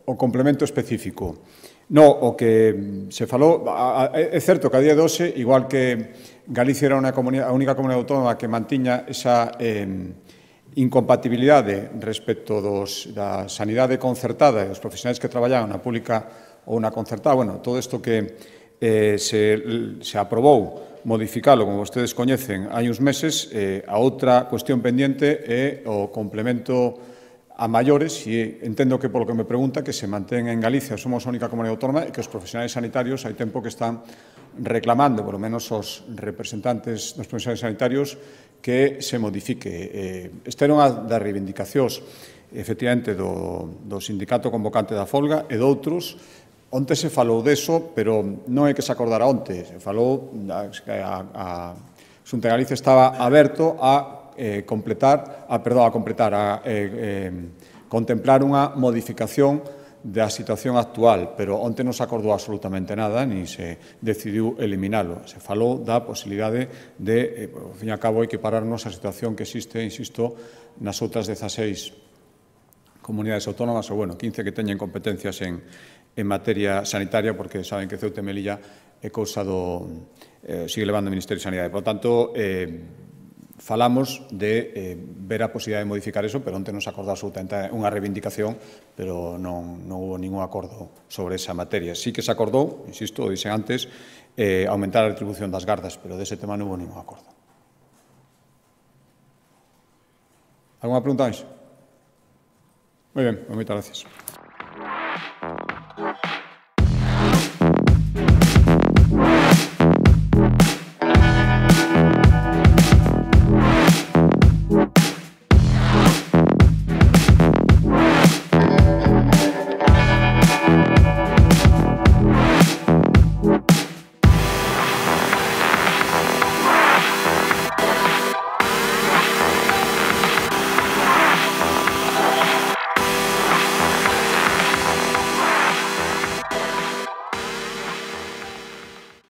o complemento específico. No, o que se falou, é certo que a día de hoxe, igual que Galicia era a única comunidade autónoma que mantiña esa eh, incompatibilidade respecto dos, da sanidade concertada e dos profesionais que traballaban na pública ou na concertada, bueno, todo isto que eh, se, se aprobou modificalo, como vostedes coñecen, hai uns meses, eh, a outra cuestión pendiente é o complemento a maiores, e entendo que, polo que me pregunta, que se mantén en Galicia, somos a única comunidade autónoma, e que os profesionais sanitarios hai tempo que están reclamando, por lo menos os representantes dos profesionais sanitarios, que se modifique. Eh, esta era unha das reivindicacións, efectivamente, do, do sindicato convocante da folga e doutros. Onte se falou deso, pero non é que se acordara onte. Se falou que a, a Xunta de Galicia estaba aberto a eh, completar, a, perdón, a completar, a eh, eh, contemplar unha modificación da situación actual, pero onte non se acordou absolutamente nada, ni se decidiu eliminalo. Se falou da posibilidade de, ao fin e a cabo, equipararnos a situación que existe, insisto, nas outras dezaseis comunidades autónomas, ou, bueno, quince que teñen competencias en, en materia sanitaria, porque saben que Ceuta e Melilla é cousa do... Eh, sigue levando o Ministerio de Sanidade. Por tanto, eh, falamos de eh, ver a posibilidade de modificar eso, pero onte non se acordou absolutamente unha reivindicación, pero non, non hubo ningún acordo sobre esa materia. Sí que se acordou, insisto, o dixen antes, eh, aumentar a retribución das gardas, pero dese tema non hubo ningún acordo. Alguna pregunta máis? Moi ben, moitas gracias.